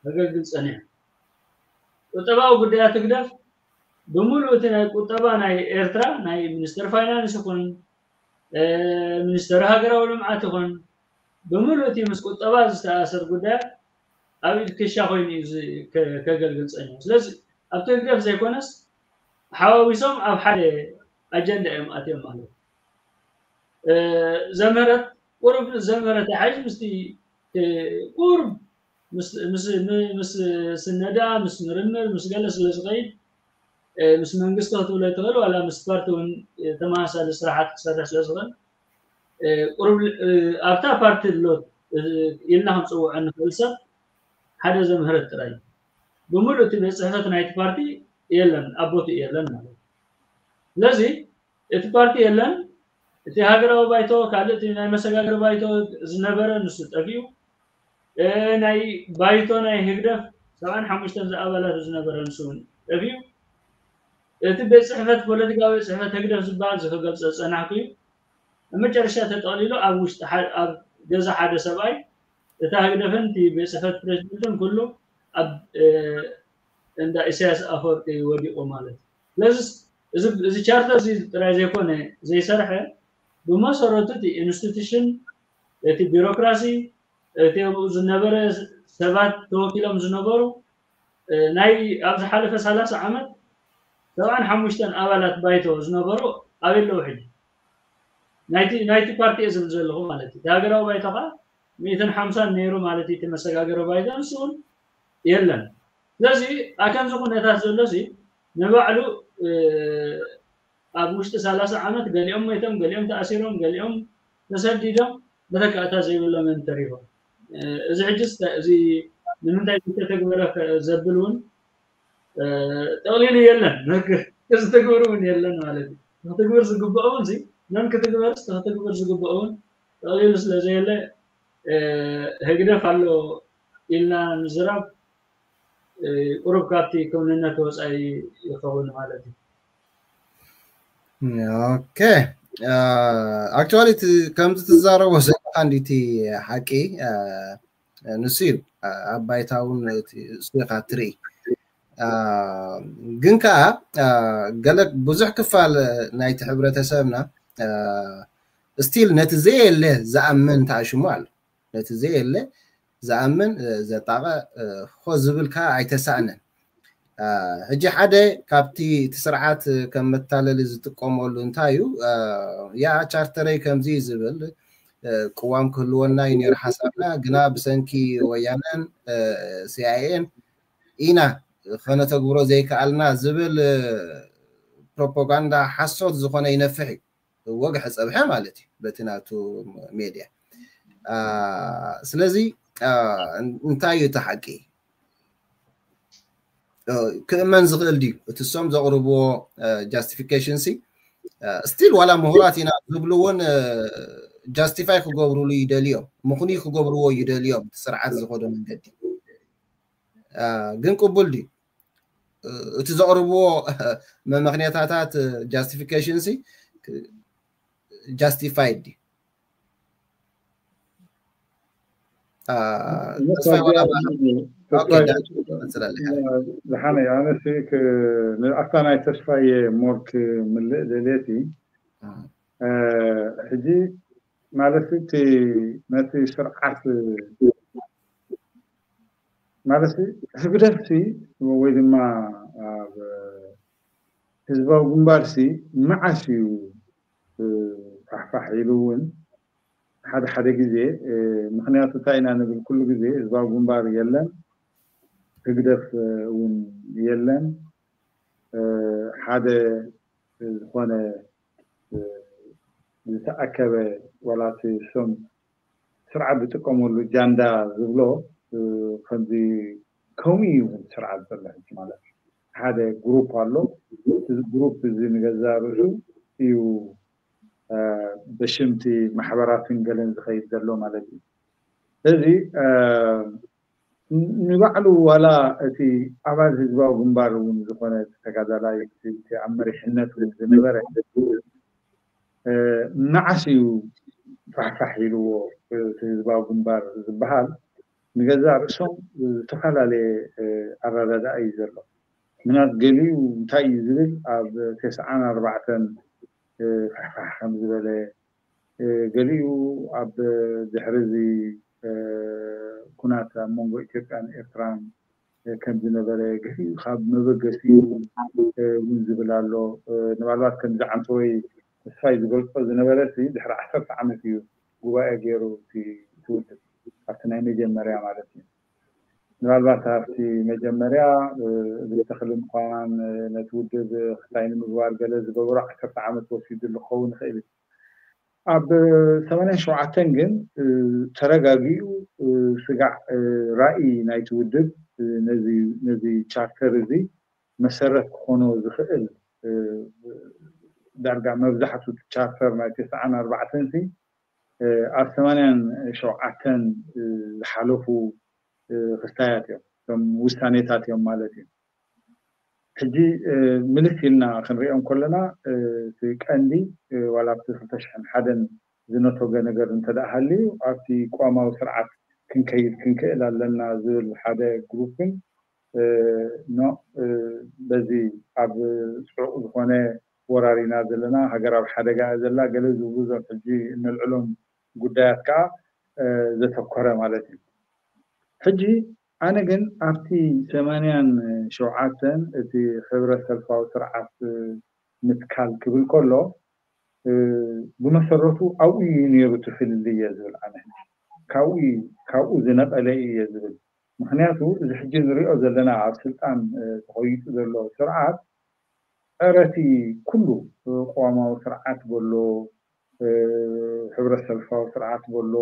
ዘገልግል ጸኒሑ። ቁጠባዊ ጉዳያት ህግደፍ ብምሉእ እቲ ናይ ቁጠባ ናይ ኤርትራ ናይ ሚኒስተር ፋይናንስ ይኹን ሚኒስተር ሃገራዊ ልምዓት ይኹን ብምሉእ እቲ ምስ ቁጠባ ዝተኣሰር ጉዳያት ኣብ ኢድ ክሻ ኮይኑ እዩ ከገልግል ጸኒሑ። ስለዚ ኣብቲ ህግደፍ ዘይኮነስ ሓዋዊሶም ኣብ ሓደ ኣጀንዳ እዮም ኣትዮም ማለት እዩ። ዘምህረት ቁሩብ ዘምህረት ይሓይሽ ምስቲ ቁሩብ ምስ ስነዳ ምስ ምርምር ምስ ገለ ስለ ዝኸይድ ምስ መንግስቲ ክትብሎ ይትኽእል ዋላ ምስ ፓርቲ እውን ተመሳሳሊ ስራሓት ክሰርሕ ስለ ዝኽእል ቁሩብ ኣብታ ፓርቲ ኣሎ ኢልና ክንፅውዖ እንኽእል ሰብ ሓደ ዘምህረት ጥራይ ብምሉእ እቲ ቤት ፅሕፈት ናይቲ ፓርቲ የለን ኣብ ቦትኡ የለን ማለት እዩ። ስለዚ እቲ ፓርቲ የለን። እቲ ሃገራዊ ባይቶ ካልእ እቲ ናይ መሰጋገሪ ባይቶ ዝነበረ ንሱ ጠፊኡ። ናይ ባይቶ ናይ ህግደፍ ሰብዓን ሓሙሽተን ዝኣባላቱ ዝነበረ ንሱ እውን ጠፊኡ። እቲ ቤት ፅሕፈት ፖለቲካዊ ቤት ፅሕፈት ህግደፍ ዝበሃል ዝክገብ ፀፀናሕኩ እዩ። ኣብ መጨረሻ ተጠቕሊሉ ኣብ ውሽጢ ኣብ ገዛ ሓደ ሰብኣይ እታ ህግደፍን እቲ ቤት ፅሕፈት ፕሬዚደንትን ኩሉ ኣብ እንዳ ኢሳያስ ኣፈወርቂ ወዲቑ ማለት እዩ። ስለዚ እዚ ቻርተር እዚ ጥራይ ዘይኮነ ዘይሰርሐ ብመሰረቱ እቲ ኢንስቲቱሽን እቲ ቢሮክራሲ እቲ ኣብኡ ዝነበረ ሰባት ተወኪሎም ዝነበሩ ናይ ኣብ ዝሓለፈ ሰላሳ ዓመት ሰብዓን ሓሙሽተን ኣባላት ባይቶ ዝነበሩ ኣበይ ኣለዉ ሕጂ? ናይቲ ናይቲ ፓርቲ እየ ዝብል ዘለኹ ማለት እዩ። ሃገራዊ ባይቶ ከዓ ሚእትን ሓምሳን ነይሩ ማለት እዩ። እቲ መሰጋገሪ ባይቶ ንሱ እውን የለን። ስለዚ ኣብ ከምዚ ኩነታት ዘሎ ሲ ንባዕሉ ኣብ ውሽጢ ሰላሳ ዓመት ገሊኦም ሞይቶም፣ ገሊኦም ተኣሲሮም፣ ገሊኦም ተሰዲዶም መተካእታ ዘይብሎም እዮም ተሪፎም። እዚ ሕጂ እዚ ንምንታይ ዝተተግበረ ዘብል እውን ጠቕሊሉ የለን። ክትግብር እውን የለን ማለት እዩ። ክትግብር ዝግብኦ እውን መን ክትግበርስ ክትግብር ዝግብኦ እውን ጠቕሊሉ ስለ ዘየለ፣ ህግደፍ ኣሎ ኢልና ምዝራብ ቁሩብ ካብቲ ክውንነት ወፃኢ ይኸውን ማለት እዩ። ኦኬ። ኣክቹዋሊ ከምዚ ትዛረቦ ዘለካ እንዲቲ ሓቂ ንሱ እዩ። ኣብ ባይታ እውን እሱ ኢካ ትርኢ። ግን ከዓ ገለ ብዙሕ ክፋል ናይቲ ሕብረተሰብና ስቲል ነቲ ዘየለ ዝኣምን ተኣሽሙ ኣሎ። ነቲ ዘየለ ዝኣምን ዘጣቐ ኮ ዝብል ከዓ ኣይተሳእነን። ሕጂ ሓደ ካብቲ እቲ ስርዓት ከም መታለሊ ዝጥቀመሉ እንታይ እዩ? ያ ቻርተረይ ከምዚ እዩ ዝብል ቅዋም ክህልወና እዩ ነይሩ ሓሳብና፣ ግና ብሰንኪ ወያነን ሲኣይኤን ኢና ከነተግብሮ ዘይከኣልና ዝብል ፕሮፓጋንዳ ሓሶት ዝኾነ ይነፍሕ እዩ። ወግሐ ፀብሐ ማለት እዩ በቲ ናቱ ሜድያ። ስለዚ እንታይ እዩ እቲ ሓቂ? ክእመን ዝኽእል ድዩ? እቲ እሶም ዘቕርብዎ ጃስቲፊኬሽን ሲ ስቲል ዋላ ምሁራት ኢና ዝብሉ እውን ጃስቲፋይ ክገብሩሉ ይደልዮም፣ ምኽንዩ ክገብርዎ ይደልዮም፣ እቲ ስርዓት ዝኸዶ መንገዲ ግን ቅቡል ድዩ? እቲ ዘቕርብዎ መመኽንያታታት ጃስቲፊኬሽን ሲ ጃስቲፋይድ ድዩ? ዝሓነ ኣነሲ ንኣፍታ ናይ ተስፋየ ሞር ክምልእ ደልየቲ ሕጂ ማለት እቲ ነቲ ስርዓት ማለት ህግደፍሲ ወይ ድማ ኣብ ህዝባዊ ግንባርሲ መዓስ እዩ ፋሕፋሕ ኢሉ እውን ሓደ ሓደ ግዜ ምክንያቱ እንታይ ኢና ንብል ኩሉ ግዜ ህዝባዊ ግንባር የለን፣ ህግደፍ እውን የለን፣ ሓደ ዝኾነ ዝተኣከበ ዋላ እቲ ሶም ስርዓት ዝጥቀመሉ ጃንዳ ዝብሎ ከምዚ ከምኡ እዩ ስርዓት ዘሎ ሕጂ ማለት እዩ። ሓደ ግሩፕ ኣሎ። እዚ ግሩፕ እዚ ንገዛ ርእሱ እዩ በሽምቲ ማሕበራትን ገለን ዝኸይድ ዘሎ ማለት እዩ። ስለዚ ንባዕሉ ዋላ እቲ ኣባል ህዝባዊ ግንባር እውን ዝኾነ ተጋዳላይ ኣብ መሪሕነት እውን ዝነበረ መዓስ እዩ ፋሕፋሕ ኢልዎ እቲ ህዝባዊ ግንባር ዝበሃል ንገዛ ርእሶም ዝተፈላለየ ኣረዳድኣ እዩ ዘሎ። ምናት ገሊኡ እንታይ እዩ ዝብል ኣብ ተስዓን ኣርባዕተን ፋሕፋሕ ከም ዝበለ ገሊኡ ኣብ ድሕሪ እዚ ኩናት ኣብ መንጎ ኢትዮጵያን ኤርትራን ከም ዝነበረ ገሊኡ ካብ መበገሲኡ እውን ዝብል ኣሎ። ንባልባት ከምዚ ዓንተወይ ተስፋይ ዝገልፆ ዝነበረ ድሕሪ ዓሰርተ ዓመት እዩ ጉባኤ ገይሩ እቲ ውድብ ኣብቲ ናይ መጀመርያ ማለት እዩ። ምናልባት ኣብቲ መጀመርያ ብተኽሊ ምዃን ነቲ ውድብ ክታይ ንምግባር ገለ ዝገበሩ ዓሰርተ ዓመት ወሲዱ ዝኸውን ይኽእል እዩ። ኣብ ሰማንያን ሸውዓተን ግን ተረጋጊኡ ስጋዕ ራእይ ናይቲ ውድብ ነዚ ቻርተር እዚ መሰረት ክኾኖ ዝኽእል ዳርጋ መብዛሕቱ ቻርተር ናይ ተስዓን ኣርባዕተን ሲ ኣብ ሰማንያን ሸውዓተን ዝሓለፉ ክስታያት እዮም፣ እቶም ውሳኔታት እዮም ማለት እዩ። ሕጂ ምልስ ኢልና ክንሪኦም ከለና እቲ ቀንዲ ዋላ ኣብቲ ክልተ ሽሕን ሓደን ዝነቶገ ነገር እንተ ደኣ ሃልዩ ኣብቲ ቅዋማዊ ስርዓት ክንከይድ ክንክእል ኣለና ዝብል ሓደ ግሩፕን ኖ በዚ ኣብ ፅዑቕ ዝኾነ ወራር ኢና ዘለና፣ ሃገር ኣብ ሓደጋ እያ ዘላ፣ ገለ ዝብሉ እዞም ሕጂ እነልዕሎም ጉዳያት ከዓ ዘተኮረ ማለት እዩ። ሕጂ ኣነ ግን ኣብቲ ሰማንያን ሸውዓተን እቲ ሕብረት ሰልፋዊ ስርዓት ምትካል ክብል ከሎ ብመሰረቱ ኣብኡ እዩ ነይሩ እቲ ፍልልይ እየ ዝብል ኣነ። ካብኡ ካብኡ ዝነቐለ እየ ዝብል። ምክንያቱ እዚ ሕጂ ንሪኦ ዘለና ኣብ ስልጣን ተኾይጡ ዘሎ ስርዓት ጸረ እቲ ኩሉ ቅዋማዊ ስርዓት በሎ፣ ሕብረት ሰልፋዊ ስርዓት በሎ፣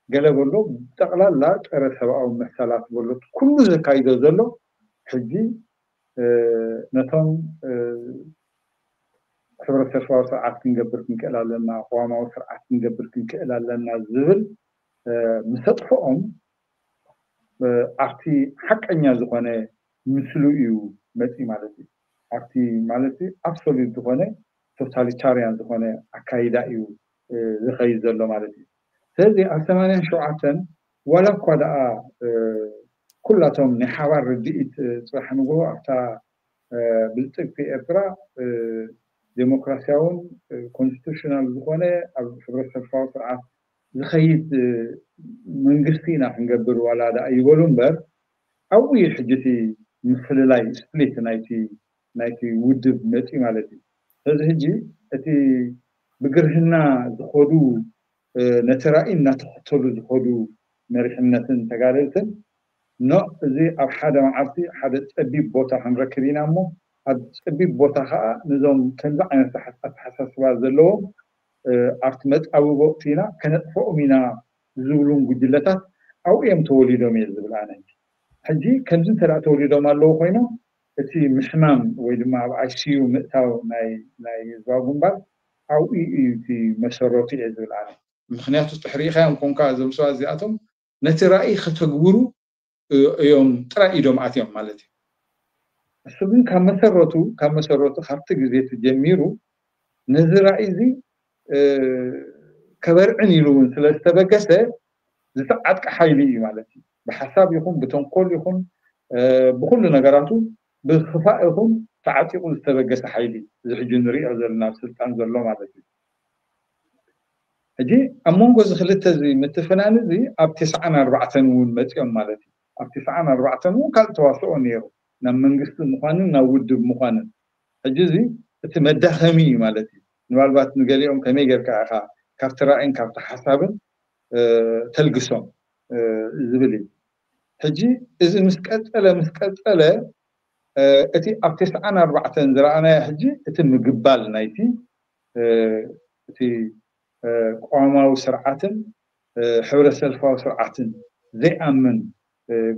ገለ በሎ፣ ጠቕላላ ጸረ ሰብኣዊ መሰላት በሎ፣ ኩሉ ዘካይዶ ዘሎ ሕጂ ነቶም ሕብረተሰባዊ ስርዓት ክንገብር ክንክእል ኣለና፣ ቅዋማዊ ስርዓት ክንገብር ክንክእል ኣለና ዝብል ምስ ኣጥፍኦም ኣብቲ ሓቀኛ ዝኾነ ምስሉ እዩ መፂ ማለት እዩ። ኣብቲ ማለት ኣብሶሉት ዝኾነ ቶታሊታርያን ዝኾነ ኣካይዳ እዩ ዝኸይድ ዘሎ ማለት እዩ። ስለዚ ኣብ ሰማንያን ሸውዓተን ዋላ እኳ ደኣ ኩላቶም ናይ ሓባር ርድኢት ፅባሕ ንግሆ ኣብታ ብልፅግቲ ኤርትራ ዴሞክራሲያውን ኮንስቲቱሽናል ዝኾነ ኣብ ሕብረተሰባዊ ስርዓት ዝኸይድ መንግስቲ ኢና ክንገብር ዋላ ደኣ ይበሉ እምበር ኣብኡ እዩ ሕጂ እቲ ምፍልላይ ስፕሊት ናይቲ ናይቲ ውድብ መፂ ማለት እዩ። ስለዚ ሕጂ እቲ ብግርህና ዝኸዱ ነቲ ራእይ እናተኸተሉ ዝኸዱ መሪሕነትን ተጋደልትን ኖ እዚ ኣብ ሓደ መዓልቲ ሓደ ፀቢብ ቦታ ክንረክብ ኢና እሞ ኣብ ፀቢብ ቦታ ከዓ ነዞም ከምዚ ዓይነት ኣተሓሳስባ ዘለዎም ኣብቲ መጣብቦ ወቅቲ ኢና ከነጥፈኦም ኢና ዝብሉን ጉጅለታት ኣብኡ እዮም ተወሊዶም እየ ዝብል ኣነ። ሕጂ ከምዚ እንተ ተወሊዶም ኣለዉ ኮይኖም እቲ ምሕማም ወይ ድማ ኣብ ኣይሲዩ ምእታው ናይ ህዝባዊ ግንባር ኣብኡ እዩ እቲ መሰረቱ እየ ዝብል ኣነ። ምክንያቱ ትሕሪኢኻዮም ኮንካ እዞም ሰባት እዚኣቶም ነቲ ራእይ ከተግብሩ እዮም ጥራይ ኢዶም ኣትዮም ማለት እዩ። እሱ ግን ካብ መሰረቱ ካብ መሰረቱ ካብቲ ግዜ ጀሚሩ ነዚ ራእይ እዚ ከበርዕን ኢሉ እውን ስለ ዝተበገሰ ዝተዓጥቀ ሓይሊ እዩ ማለት እዩ። ብሓሳብ ይኹን ብተንኮል ይኹን ብኩሉ ነገራቱ ብክፋእ ይኹን ተዓጢቑ ዝተበገሰ ሓይሊ እዚ ሕጂ ንሪኦ ዘለና ኣብ ስልጣን ዘሎ ማለት እዩ። ሕጂ ኣብ መንጎ እዚ ክልተ እዚ ምትፍናን እዚ ኣብ ተስዓን ኣርባዕተን እውን መፂኦም ማለት እዩ። ኣብ ተስዓን ኣርባዕተን እውን ካልእ ተዋስኦ ነይሩ ናብ መንግስቲ ምዃንን ናብ ውድብ ምዃንን። ሕጂ እዚ እቲ መዳኸሚ እዩ ማለት እዩ። ምናልባት ንገሊኦም ከመይ ጌርካ ኢኻ ካብቲ ራእይን ካብቲ ሓሳብን ተልግሶም ዝብል እዩ። ሕጂ እዚ ምስ ቀፀለ ምስ ቀፀለ እቲ ኣብ ተስዓን ኣርባዕተን ዝረኣናዮ ሕጂ እቲ ምግባል ናይቲ እቲ ቅዋማዊ ስርዓትን ሕብረ ሰልፋዊ ስርዓትን ዘይኣምን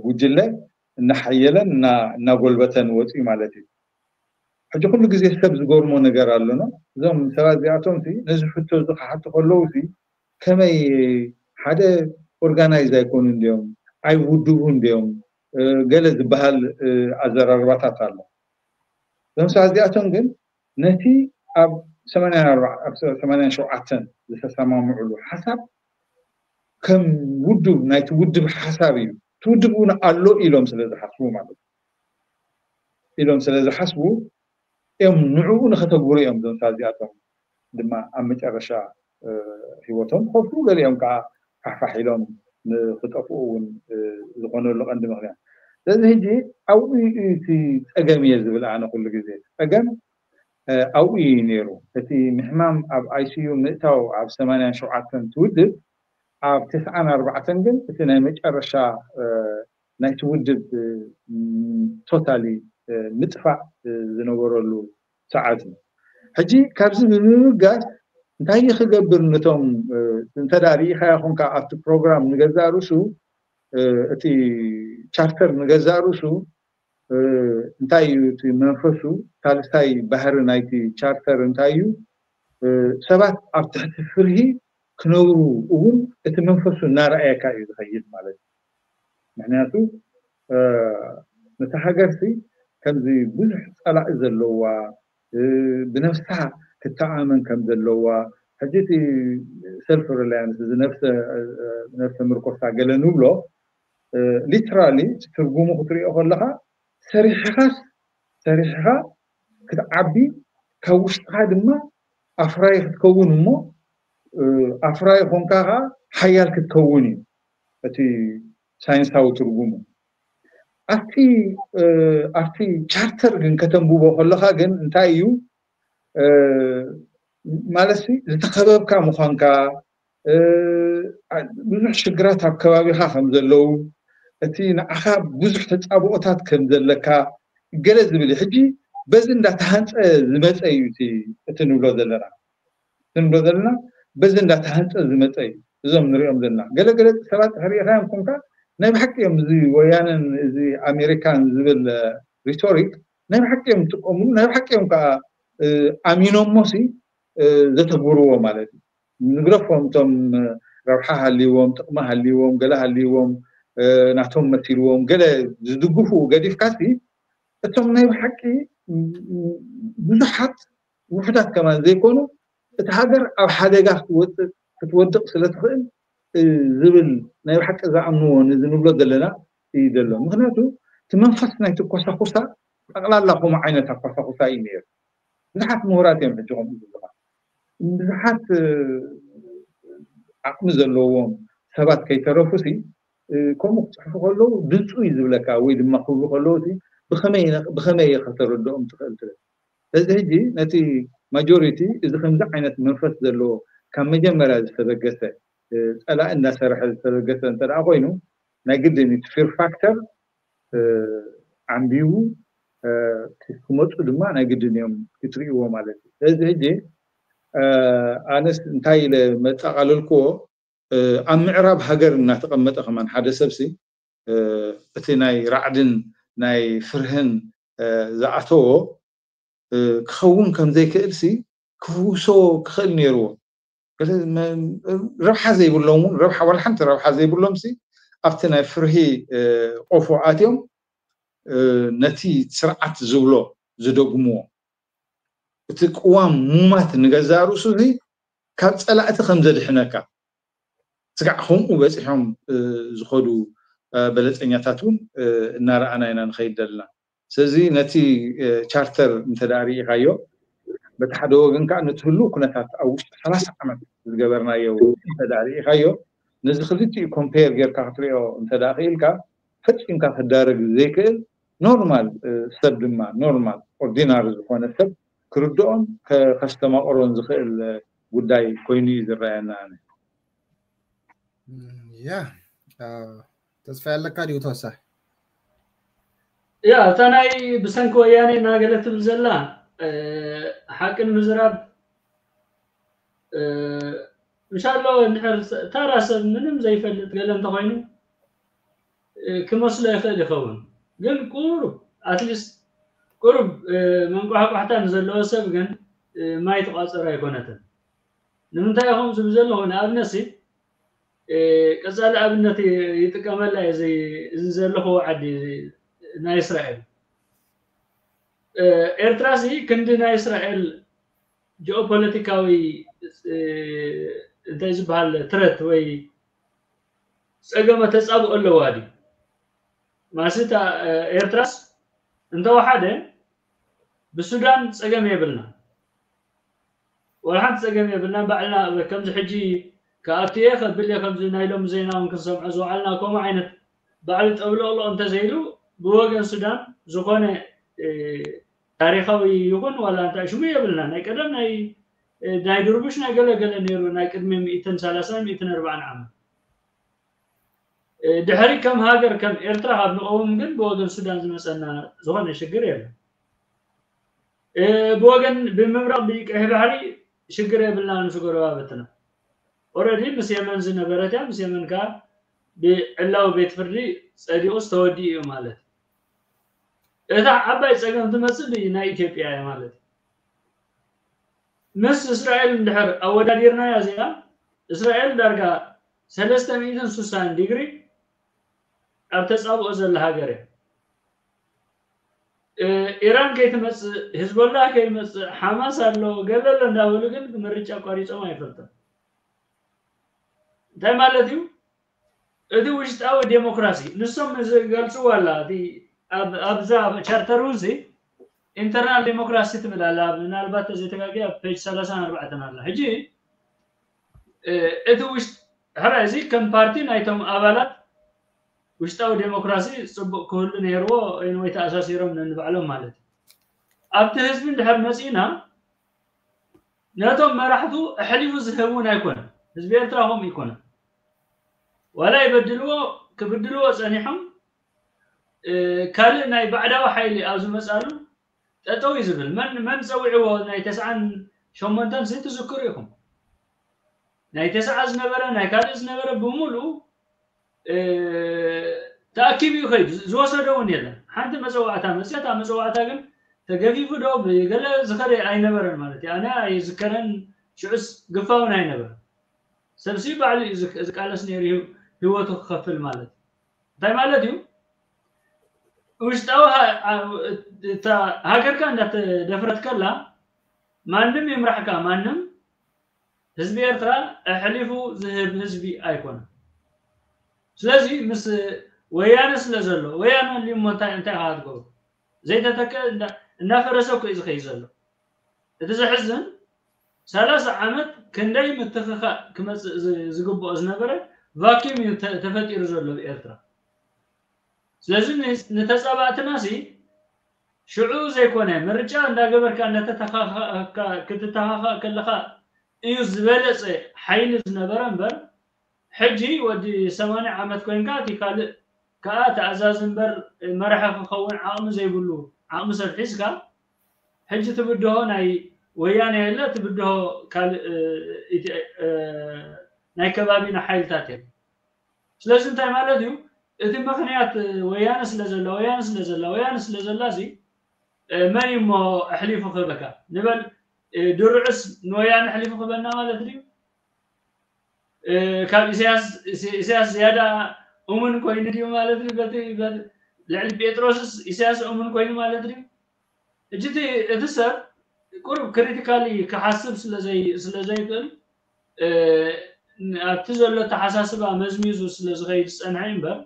ጉጅለ እናሓየለን እናጎልበተን ወፅኡ ማለት እዩ። ሕጂ ኩሉ ግዜ ሰብ ዝገርሞ ነገር ኣሎኖ እዞም ሰባት እዚኣቶም ነዚ ሕቶ እዚ ክሓቱ ከለዉ ከመይ ሓደ ኦርጋናይዝ ኣይኮኑ እንዲዮም ኣይውድቡ እንዲዮም ገለ ዝበሃል ኣዘራርባታት ኣሎ። እዞም ሰባት እዚኣቶም ግን ነቲ ኣብ ሰማንያን ሸውዓተን ዝተሰማምዕሉ ሓሳብ ከም ውድብ ናይቲ ውድብ ሓሳብ እዩ። እቲ ውድብ እውን ኣሎ ኢሎም ስለ ዝሓስቡ ማለት እዩ። ኢሎም ስለ ዝሓስቡ እዮም ንዕኡ ንኸተግብሩ እዮም እዞም ሰባት እዚኣቶም ድማ ኣብ መጨረሻ ህይወቶም ክኸፍሉ ገሊኦም ከዓ ፋሕፋሕ ኢሎም ንክጠፍኡ እውን ዝኾነሉ ቀንዲ ምክንያት። ስለዚ ሕጂ ኣብኡ እዩ እቲ ፀገም እየ ዝብል ኣነ ኩሉ ግዜ ፀገም ኣብኡ እዩ ነይሩ። እቲ ምሕማም ኣብ ኣይሲዩ ምእታው ኣብ ሰማንያን ሸውዓተን ትውድብ ኣብ ተስዓን ኣርባዕተን ግን እቲ ናይ መጨረሻ ናይቲ ውድብ ቶታሊ ምጥፋእ ዝነበረሉ ሰዓት እዩ። ሕጂ ካብዚ ብምብጋስ እንታይ ክገብር ነቶም እንተዳ ርኢኻዮ ኮንካ ኣብቲ ፕሮግራም ንገዛእ ርእሱ እቲ ቻርተር ንገዛእ ርእሱ እንታይ እዩ እቲ መንፈሱ ሳልሳይ ባህሪ ናይቲ ቻርተር እንታይ እዩ ሰባት ኣብ ትሕቲ ፍርሂ ክነብሩ እውን እቲ መንፈሱ እናረኣየካ እዩ ዝኸይድ ማለት እዩ። ምክንያቱ ነቲ ሃገርሲ ከምዚ ብዙሕ ፀላኢ ዘለዋ ብነብሳ ክትተኣመን ከም ዘለዋ ሕጂ እቲ ሰልፍ ሪላያንስ እዚ ነብሰ ምርኮሳ ገለ ንብሎ ሊትራሊ ትርጉሙ ክትሪኦ ከለካ ሰሪሕኻስ ሰሪሕኻ ክትዓቢ ካብ ውሽጥኻ ድማ ኣፍራይ ክትከውን እሞ ኣፍራይ ኮንካ ከዓ ሓያል ክትከውን እዩ እቲ ሳይንሳዊ ትርጉሙ። ኣብቲ ኣብቲ ቻርተር ግን ከተንብቦ ከለካ ግን እንታይ እዩ ማለት ዝተኸበብካ ምዃንካ ብዙሕ ሽግራት ኣብ ከባቢኻ ከም ዘለዉ እቲ ንዓኻ ብዙሕ ተፃብኦታት ከም ዘለካ ገለ ዝብል እዩ። ሕጂ በዚ እንዳተሃንፀ ዝመፀ እዩ እቲ ንብሎ ዘለና እቲ ንብሎ ዘለና በዚ እንዳተሃንፀ ዝመፀ እዩ። እዞም ንሪኦም ዘለና ገለገለ ሰባት ሕሪኢኻዮም ኮንካ ናይ ብሓቂ እዮም እዚ ወያነን እዚ ኣሜሪካን ዝብል ሪቶሪክ ናይ ብሓቂ እዮም ዝጥቀምሉ ናይ ብሓቂ እዮም ከዓ ኣሚኖሞ ሲ ዘተግብርዎ ማለት እዩ። ንግረፎም እቶም ረብሓ ሃልዎም፣ ጥቕሚ ሃልዎም፣ ገለ ሃልዎም፣ ናቶም መሲልዎም ገለ ዝድግፉ ገዲፍካ ሲ እቶም ናይ ብሓቂ ብዙሓት ውሑዳት ከማን ዘይኮኑ እቲ ሃገር ኣብ ሓደጋ ክትወፅእ ክትወድቕ ስለ ትኽእል ዝብል ናይ ብሓቂ ዝኣምንዎ ንዝንብሎ ዘለና እዩ ዘሎ። ምክንያቱ እቲ መንፈስ ናይቲ ኮሳኩሳ ጠቕላላ ከምኡ ዓይነት ኣኮሳኩሳ እዩ ነይሩ። ብዙሓት ምሁራት እዮም ሕጂ ከምኡ ዝብሉኻ። ብዙሓት ዓቕሚ ዘለዎም ሰባት ከይተረፉ ሲ ከምኡ ክፅሕፉ ከለዉ ድምፁ እዩ ዝብለካ ወይ ድማ ክብሉ ከለዉ ሲ ብኸመይ እየ ከተረድኦም ትኽእል ትብል። ስለዚ ሕጂ ነቲ ማጆሪቲ እዚ ከምዚ ዓይነት መንፈስ ዘለዎ ካብ መጀመርያ ዝተበገሰ ፀላኢ እንዳሰርሐ ዝተበገሰ እንተ ደኣ ኮይኑ ናይ ግድን እቲ ፊር ፋክተር ዓንቢቡ ክመፁ ድማ ናይ ግድን እዮም ክትርእይዎ ማለት እዩ። ስለዚ ሕጂ ኣነስ እንታይ ኢለ መጠቓለልክዎ ኣብ ምዕራብ ሃገር እናተቐመጠ ከማን ሓደ ሰብሲ እቲ ናይ ራዕድን ናይ ፍርህን ዝኣተዎ ክኸውን ከም ዘይክእል ሲ ክፍውሶ ክኽእል ነይርዎ። ረብሓ ዘይብሎም እውን ረብሓ ዋላ ሓንቲ ረብሓ ዘይብሎም ሲ ኣብቲ ናይ ፍርሂ ቆፎ ኣትዮም ነቲ ስርዓት ዝብሎ ዝደግምዎ እቲ ቅዋም ሙማት ንገዛእ ርእሱ ሲ ካብ ፀላእቲ ከም ዘድሕነካ ስጋዕ ከምኡ በፂሖም ዝኸዱ በለፀኛታት እውን እናረኣና ኢና ንኸይድ ዘለና። ስለዚ ነቲ ቻርተር እንተ ደኣ ርኢኻዮ በቲ ሓደ ወገን ከዓ ነቲ ህሉው ኩነታት ኣብ ውሽጢ ሰላሳ ዓመት ዝገበርናዮ እንተ ደኣ ርኢኻዮ ነዚ ክልቲኡ ኮምፔር ጌርካ ክትሪኦ እንተ ደኣ ክኢልካ ፈፂምካ ክዳረግ ዘይክእል ኖርማል ሰብ ድማ ኖርማል ኦርዲናሪ ዝኾነ ሰብ ክርድኦን ከስተማቕሮን ዝኽእል ጉዳይ ኮይኑ እዩ ዝረኣየና። ኣነ ያ ተስፋ ያለካ ድዩ ተወሳኺ? ያ እታ ናይ ብሰንኪ ወያኔ እናገለ ትብል ዘላ ሓቂ ንምዝራብ ምሻሎ እንድሕር ተራ ሰብ ምንም ዘይፈልጥ ገለ እንተኮይኑ ክመስሎ ይኽእል ይኸውን፣ ግን ቁሩብ ኣትሊስት ቁሩብ መንቋሕቋሕታ ንዘለዎ ሰብ ግን ማይ ትቋፀር ኣይኮነትን። ንምንታይ ኢኹም ዝብል ዘለኹ ንኣብነት ሲ ቀፃሊ ኣብነት ይጥቀመላ እዚ ዘለኹዎ ዓዲ ናይ እስራኤል ኤርትራ ሲ ክንዲ ናይ እስራኤል ጂኦፖለቲካዊ እንታይ ዝበሃል ትረት ወይ ፀገመ ተፃብኦ ኣለዋ ድዩ? ማለትሲ እታ ኤርትራስ እንተወሓደ ብሱዳን ፀገም የብልና፣ ወላ ሓንቲ ፀገም የብልና። ባዕልና ከምዚ ሕጂ ከኣቱ እየ ከብል እየ ከምዚ ናይ ሎሚ ዜና እውን ክንሰምዖ ዝወዓልና ከምኡ ዓይነት ባዕሉ ጠብለቕለቕ እንተዘይሉ ብወገን ሱዳን ዝኾነ ታሪኻዊ ይኹን ዋላ እንታይ ሽሙ የብልና። ናይ ቀደም ናይ ናይ ድርቡሽ ናይ ገለገለ ነይሩ ናይ ቅድሚ ሚእትን ሰላሳን ሚእትን ኣርባዓን ዓመት ድሕሪ ከም ሃገር ከም ኤርትራ ካብ ንቐውም ግን ብወገን ሱዳን ዝመፀና ዝኾነ ሽግር የለን። ብወገን ብምብራቕ ብቀይሕ ባሕሪ ሽግር የብልና ምስ ጎረባብትና። ኦረዲ ምስ የመን ዝነበረት እያ። ምስ የመን ከዓ ብዕላዊ ቤት ፍርዲ ፀዲቑ ዝተወዲኡ እዩ ማለት እዩ። እታ ዓባይ ፀገም ትመፅእ ብናይ ኢትዮጵያ እያ ማለት እዩ። ምስ እስራኤል እንድሕር ኣወዳዲርናያ እዚኣ እስራኤል ዳርጋ ሰለስተ ሚእትን ስሳን ዲግሪ ኣብ ተፃብኦ ዘላ ሃገር እያ። ኢራን ከይትመፅእ፣ ህዝቦላህ ከይመፅእ፣ ሓማስ ኣሎ ገለ ኣሎ እንዳበሉ ግን ምርጫ ኣቋሪፆም ኣይፈልጥን። እንታይ ማለት እዩ? እቲ ውሽጣዊ ዴሞክራሲ ንሶም ዝገልፅዎ ኣላ ኣብዛ ቻርተር እውን ኢንተርናል ዴሞክራሲ ትብል ኣላ። ምናልባት ተዘይተጋጊ ኣብ ፔጅ ሰላሳን ኣርባዕተን ኣላ። ሕጂ እቲ ውሽጥ ሕራይ እዚ ከም ፓርቲ ናይቶም ኣባላት ውሽጣዊ ዴሞክራሲ ፅቡቅ ክህሉ ነይርዎ ወይ ተኣሳሲሮም ነንባዕሎም ማለት እዩ። ኣብቲ ህዝቢ እንድሕር መፂእና ነቶም መራሕቱ ኣሕሊፉ ዝህብ እውን ኣይኮነን። ህዝቢ ኤርትራ ከምኡ ይኮነን። ዋላ ይበድልዎ ክብድልዎ ፀኒሖም ካልእ ናይ ባዕዳዊ ሓይሊ ኣብ ዝመፃሉ ጠጠው እዩ ዝብል። መን መን ፀዊዕዎ ናይ ተስዓን ሸሞንተን ሲ ትዝክሩ ኢኹም። ናይ ተስዓ ዝነበረ ናይ ካልእ ዝነበረ ብምሉኡ ተኣኪቡ እዩ ከይዱ። ዝወሰዶ እውን የለን። ሓንቲ መፀዋዕታ መፅያ እታ መፀዋዕታ ግን ተገፊፉ ዶ ብገለ ዝኸደ ኣይነበረን ማለት እዩ። ኣነ ኣይዝከረን፣ ሽዑስ ግፋውን ኣይነበረን። ሰብሲ ባዕሉ እዩ ዝቃለስ ነይሩ፣ ህይወቱ ክኸፍል ማለት እዩ። እንታይ ማለት እዩ? ውሽጣዊ ሃገርካ እንዳተደፍረት ከላ ማንም ይምራሕካ፣ ማንም ህዝቢ ኤርትራ ኣሕሊፉ ዝህብ ህዝቢ ኣይኮነን። ስለዚ ምስ ወያነ ስለ ዘሎ፣ ወያነ ኣልዩ እሞ እንታይ እንታይ ኢኻ ትገብሮ? ዘይተተከ እንዳፈረሰ እኮ እዩ ዝኸይድ ዘሎ። እቲ ዘሕዝን ሰላሳ ዓመት ክንደይ ምትኽኻእ ክመፅእ ዝግብኦ ዝነበረ ቫኪም እዩ ተፈጢሩ ዘሎ ብኤርትራ። ስለዚ ንተፃባእትና ሲ ሽዑ ዘይኮነ ምርጫ እንዳገበርካ እንዳተተኻኻእካ ክትተኻኻእ ከለኻ እዩ ዝበለፀ ሓይሊ ዝነበረ እምበር ሕጂ ወዲ ሰማንያ ዓመት ኮይንካ እቲ ካልእ ከዓ ተኣዛዚ እምበር መራሒ ክኸውን ዓቕሚ ዘይብሉ ዓቕሚ ሰብ ሒዝካ ሕጂ ትብድሆ ናይ ወያነ የለ ትብድሆ ካልእ ናይ ከባቢና ሓይልታት የለ። ስለዚ እንታይ ማለት እዩ? እቲ ምኽንያት ወያነ ስለ ዘላ ወያነ ስለ ዘላ ወያነ ስለ ዘላ እዚ መን እዩ እሞ ኣሕሊፉ ክህበካ ንበል። ድርዕስ ንወያነ ኣሕሊፉ ክህበና ማለት ድዩ? ካብ ኢሳያስ ዝያዳ እሙን ኮይኑ ድዩ ማለት ድዩ? በቲ ልዕሊ ጴጥሮስስ ኢሳያስ እሙን ኮይኑ ማለት ድዩ? ሕጂ እቲ ሰብ ቁሩብ ክሪቲካሊ ክሓስብ ስለ ዘይክእል ኣብቲ ዘሎ ኣተሓሳስባ መዝሚዙ ስለ ዝኸይድ ዝፀንሐ እምበር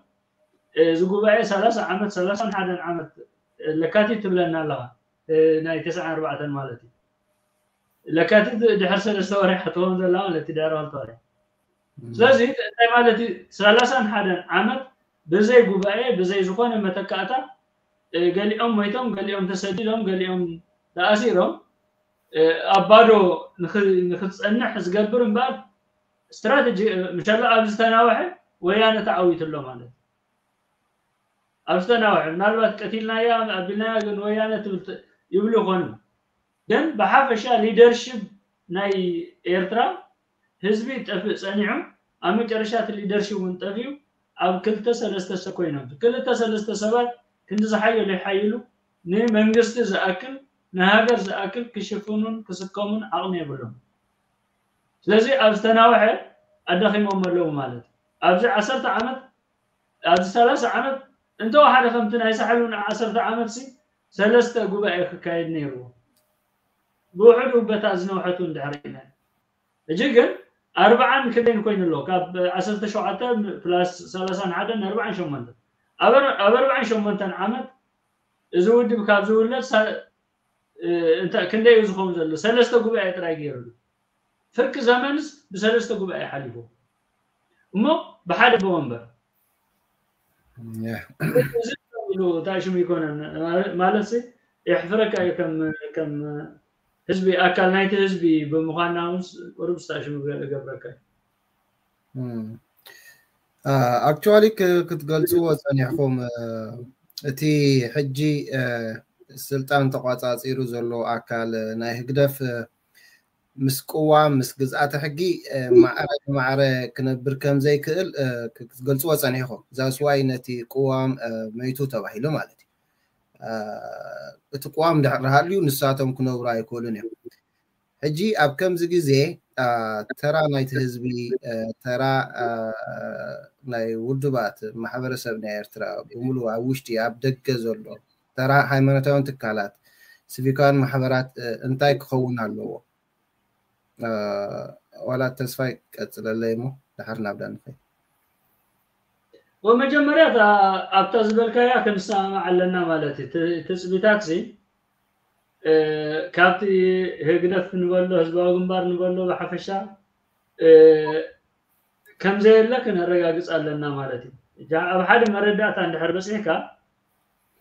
እዚ ጉባኤ ሰላሳ ዓመት ሰላሳን ሓደን ዓመት ለካቲት ትብለና ኣለኻ ናይ ተስዓን ኣርባዕተን ማለት እዩ። ለካቲት ድሕር ሰለስተ ወርሒ ክትኸውን ዘላ ማለት እዩ ድሕር ክልተ ወርሒ። ስለዚ እንታይ ማለት እዩ? ሰላሳን ሓደን ዓመት ብዘይ ጉባኤ ብዘይ ዝኾነ መተካእታ ገሊኦም ሞይቶም፣ ገሊኦም ተሰዲዶም፣ ገሊኦም ተኣሲሮም ኣብ ባዶ ንክትፀንሕ ዝገብር እምበር ስትራተጂ ምሻላ ኣብ ዝተናወሐ ወያነ ተዓዊቱ ኣሎ ማለት እዩ። ኣብ ዝተናወሐ ምናልባት ቀቲልናያ ኣቢልናያ ግን ወያነ ትብል ይብሉ ይኾኑ። ግን ብሓፈሻ ሊደርሽፕ ናይ ኤርትራ ህዝቢ ጠፍእ ፀኒሑ ኣብ መጨረሻ እቲ ሊደርሽፕ እውን ጠፊኡ ኣብ ክልተ ሰለስተ ሰብ ኮይኖም ክልተ ሰለስተ ሰባት ክንዲ ዝሓየሉ ይሓይሉ ንመንግስቲ ዝኣክል ንሃገር ዝኣክል ክሽፍኑን ክስከሙን ዓቕሚ የብሎም። ስለዚ ኣብ ዝተናወሐ ኣዳኺሞም ኣለዉ ማለት እዩ። ኣብዚ ዓሰርተ ዓመት ኣብዚ ሰላሳ ዓመት እንተወሓደ ከምቲ ናይ ሳሕሉ ንዓሰርተ ዓመት ሲ ሰለስተ ጉባኤ ክካየድ ነይርዎ። ብውሕዱ በታ ዝነውሐቱ እንድሕር ኢና ሕጂ ግን ኣርባዓን ክንደይን ኮይኑ ኣሎ ካብ ዓሰርተ ሸውዓተ ፕላስ ሰላሳን ሓደን ኣርባዓን ሸሞንተን ኣብ ኣርባዓን ሸሞንተን ዓመት እዚ ውድብ ካብ ዝውለድ ክንደይ እዩ ዝኸውን ዘሎ ሰለስተ ጉባኤ ጥራይ ገይሩሉ ፍርቂ ዘመንስ ብሰለስተ ጉባኤ ሓሊፉ እሞ ብሓደ ብወንበር ታሽሙ ይኮነን ማለት የሕፍረካ እዩ ከም ህዝቢ ኣካል ናይቲ ህዝቢ ብምኳንና እውን ቁሩብ ስታሽሙ ገብረካ እዩ። ኣክቹዋሊ ክትገልፅዎ ፀኒሕኩም እቲ ሕጂ ስልጣን ተቋፃፂሩ ዘሎ ኣካል ናይ ህግደፍ ምስ ቅዋም ምስ ግዝኣተ ሕጊ ማዕረ ብማዕረ ክነብር ከም ዘይክእል ክትገልፅዎ ፀኒሕኩም። ዛስዋይ ነቲ ቅዋም መይቱ ተባሂሉ ማለት እዩ። እቲ ቅዋም ድሕር ሃልዩ ንሳቶም ክነብሩ ኣይክእሉን እዮም። ሕጂ ኣብ ከምዚ ግዜ ተራ ናይቲ ህዝቢ ተራ ናይ ውድባት ማሕበረሰብ ናይ ኤርትራ ብምሉ ኣብ ውሽጢ ኣብ ደገ ዘሎ ተራ ሃይማኖታውን ትካላት ሲቪካውን ማሕበራት እንታይ ክኸውን ኣለዎ? ዋላ ተስፋይ ቀፅለለይ እሞ ድሓር ናብዳ ንኸይ ወመጀመርያ ኣብታ ዝበልካያ ክንሰማማዕ ኣለና ማለት እዩ። ትፅቢታት ሲ ካብቲ ህግደፍ ንበሎ ህዝባዊ ግንባር ንበሎ ብሓፈሻ ከምዘየለ ክነረጋግፅ ኣለና ማለት እዩ። ኣብ ሓደ መረዳእታ እንድሕር በፂሕካ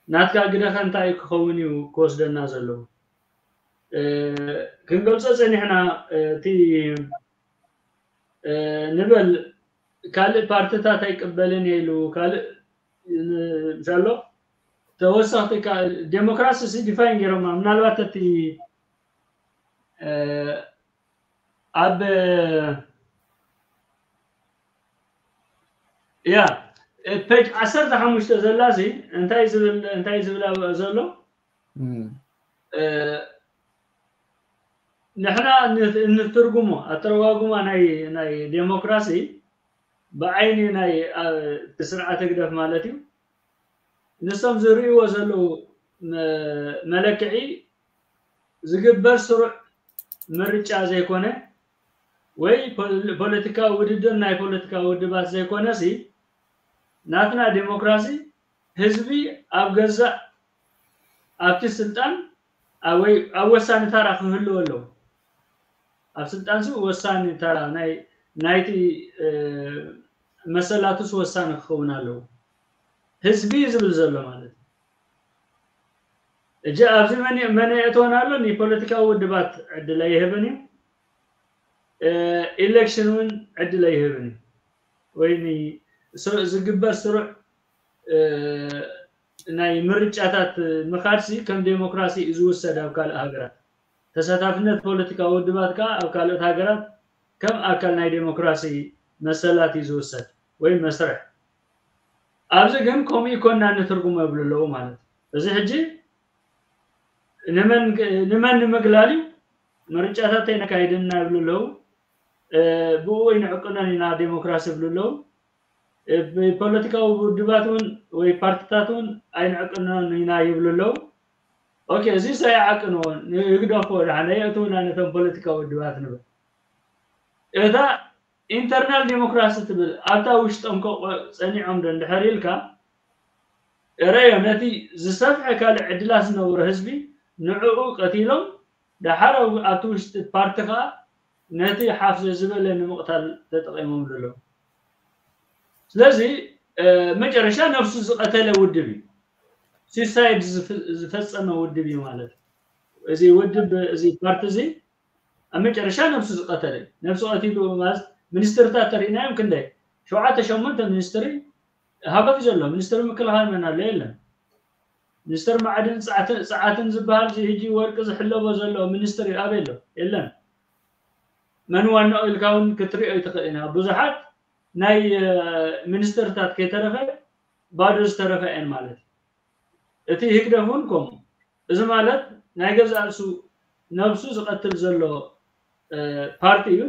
ናትካ ግደኸ እንታይ ክኸውን እዩ ክወስደና ዘለዎ? ክንገልፆ ፀኒሕና እቲ ንበል ካልእ ፓርትታት ኣይቅበልን ኢሉ ካልእ ምሻሎ ተወሰኽቲ ዴሞክራሲ ሲ ዲፋይን ገይሮማ ምናልባት እቲ ኣብ ያ ፔጅ ዓሰርተ ሓሙሽተ ዘላ ሲ እንታይ ዝብል እንታይ ዝብል ዘሎ ንሕና እንትርጉሞ ኣተረጓጉማ ናይ ናይ ዴሞክራሲ ብዓይኒ ናይ እቲ ስርዓተ ህግደፍ ማለት እዩ። ንሶም ዝርእይዎ ዘለዉ መለክዒ ዝግበር ስሩዕ ምርጫ ዘይኮነ ወይ ፖለቲካዊ ውድድር ናይ ፖለቲካዊ ውድባት ዘይኮነ ሲ ናትና ዴሞክራሲ ህዝቢ ኣብ ገዛእ ኣብቲ ስልጣን ወይ ኣብ ወሳኒ ታራ ክህልዎ ኣለዎ። ኣብ ስልጣን ሲ ወሳኒ ታራ ናይ ናይቲ መሰላቱስ ወሳኒ ክኸውን ኣለዎ። ህዝቢ ዝብል ዘሎ ማለት እዩ። እጂ ኣብዚ መን መን የእተወን ኣሎ? ንፖለቲካዊ ውድባት ዕድል ኣይህብን እዩ። ኢሌክሽን እውን ዕድል ኣይህብን እዩ። ወይ ዝግበር ስሩዕ ናይ ምርጫታት ምኻድሲ ከም ዴሞክራሲ እዩ ዝውሰድ ኣብ ካልእ ሃገራት። ተሳታፍነት ፖለቲካዊ ውድባት ከዓ ኣብ ካልኦት ሃገራት ከም ኣካል ናይ ዴሞክራሲ መሰላት እዩ ዝውሰድ ወይ መስርሕ። ኣብዚ ግን ከምኡ ይኮና ንትርጉሞ ይብሉ ኣለዉ ማለት እዩ። እዚ ሕጂ ንመን ንምግላል እዩ? ምርጫታት ኣይነካይድና ይብሉ ኣለዉ። ብኡ ኣይንዕቅኖን ኢና ዴሞክራሲ ይብሉ ኣለዉ። ፖለቲካዊ ውድባት እውን ወይ ፓርቲታት እውን ኣይንዕቅኖን ኢና ይብሉ ኣለዉ። ኦኬ፣ እዚ ሰይዓቅንዎ ይግደፎ ደሓን የእትውና ነቶም ፖለቲካዊ ውድባት ንብል። እታ ኢንተርናል ዴሞክራሲ ትብል ኣብታ ውሽጦም ጸኒዖም ዶ እንድሕር ኢልካ ረዮ ነቲ ዝሰፍሐ ካልእ ዕድላት ዝነበሮ ህዝቢ ንዕኡ ቀቲሎም ደሓር ኣብቲ ውሽጢ ፓርቲ ከዓ ነቲ ሓፍ ዝበለ ንምቕታል ተጠቒሞም ዘለዉ። ስለዚ መጨረሻ ነፍሱ ዝቐተለ ውድብ እዩ። ሲሳይድ ዝፈጸመ ውድብ እዩ ማለት እዩ። እዚ ውድብ እዚ ፓርቲ እዚ ኣብ መጨረሻ ነፍሱ ዝቐተለ እዩ። ነፍሱ ቀቲሉ ማለት ሚኒስትርታት ተሪእናዮም ክንደይ ሸውዓተ ሸሞንተ ሚኒስትሪ ሃገፍ ዘሎ ሚኒስትሪ ምክልኻል መን ኣሎ? የለን። ሚኒስትር ማዕድን ጸዓትን ዝበሃል እዚ ሕጂ ወርቂ ዝሕለቦ ዘሎ ሚኒስትሪ ኣበይ ኣሎ? የለን። መን ዋናኡ ኢልካ እውን ክትሪኦ ይትኽእል ኢና። ብዙሓት ናይ ሚኒስትርታት ከይተረፈ ባዶ ዝተረፈ እየን ማለት እዩ። እቲ ህግደፍ እውን ከምኡ። እዚ ማለት ናይ ገዛእ ርእሱ ነብሱ ዝቐትል ዘሎ ፓርቲ እዩ፣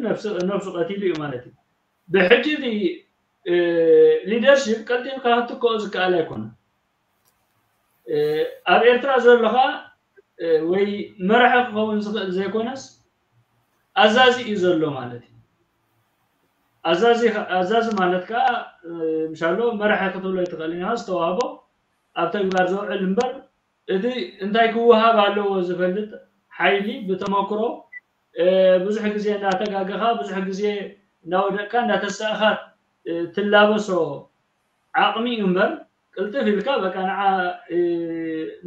ነብሱ ቀቲሉ እዩ ማለት እዩ። ብሕጂ እቲ ሊደርሺፕ ቀልጢፍካ ክትክኦ ዝከኣል ኣይኮነን። ኣብ ኤርትራ ዘሎ ከዓ ወይ መራሒ ክኸውን ዝኽእል ዘይኮነስ ኣዛዚ እዩ ዘሎ ማለት እዩ። ኣዛዚ ማለት ከዓ ምሻሎ መራሒ ክትብሎ ይትኽእል ኢና ዝተዋህቦ ኣብ ተግባር ዘውዕል እምበር እቲ እንታይ ክወሃብ ኣለዎ ዝፈልጥ ሓይሊ ብተመክሮ ብዙሕ ግዜ እንዳተጋገኻ ብዙሕ ግዜ እንዳወደቅካ እንዳተሳእኻ ትላበሶ ዓቕሚ እዩ እምበር ቅልጥፍ ኢልካ በቃ ንዓ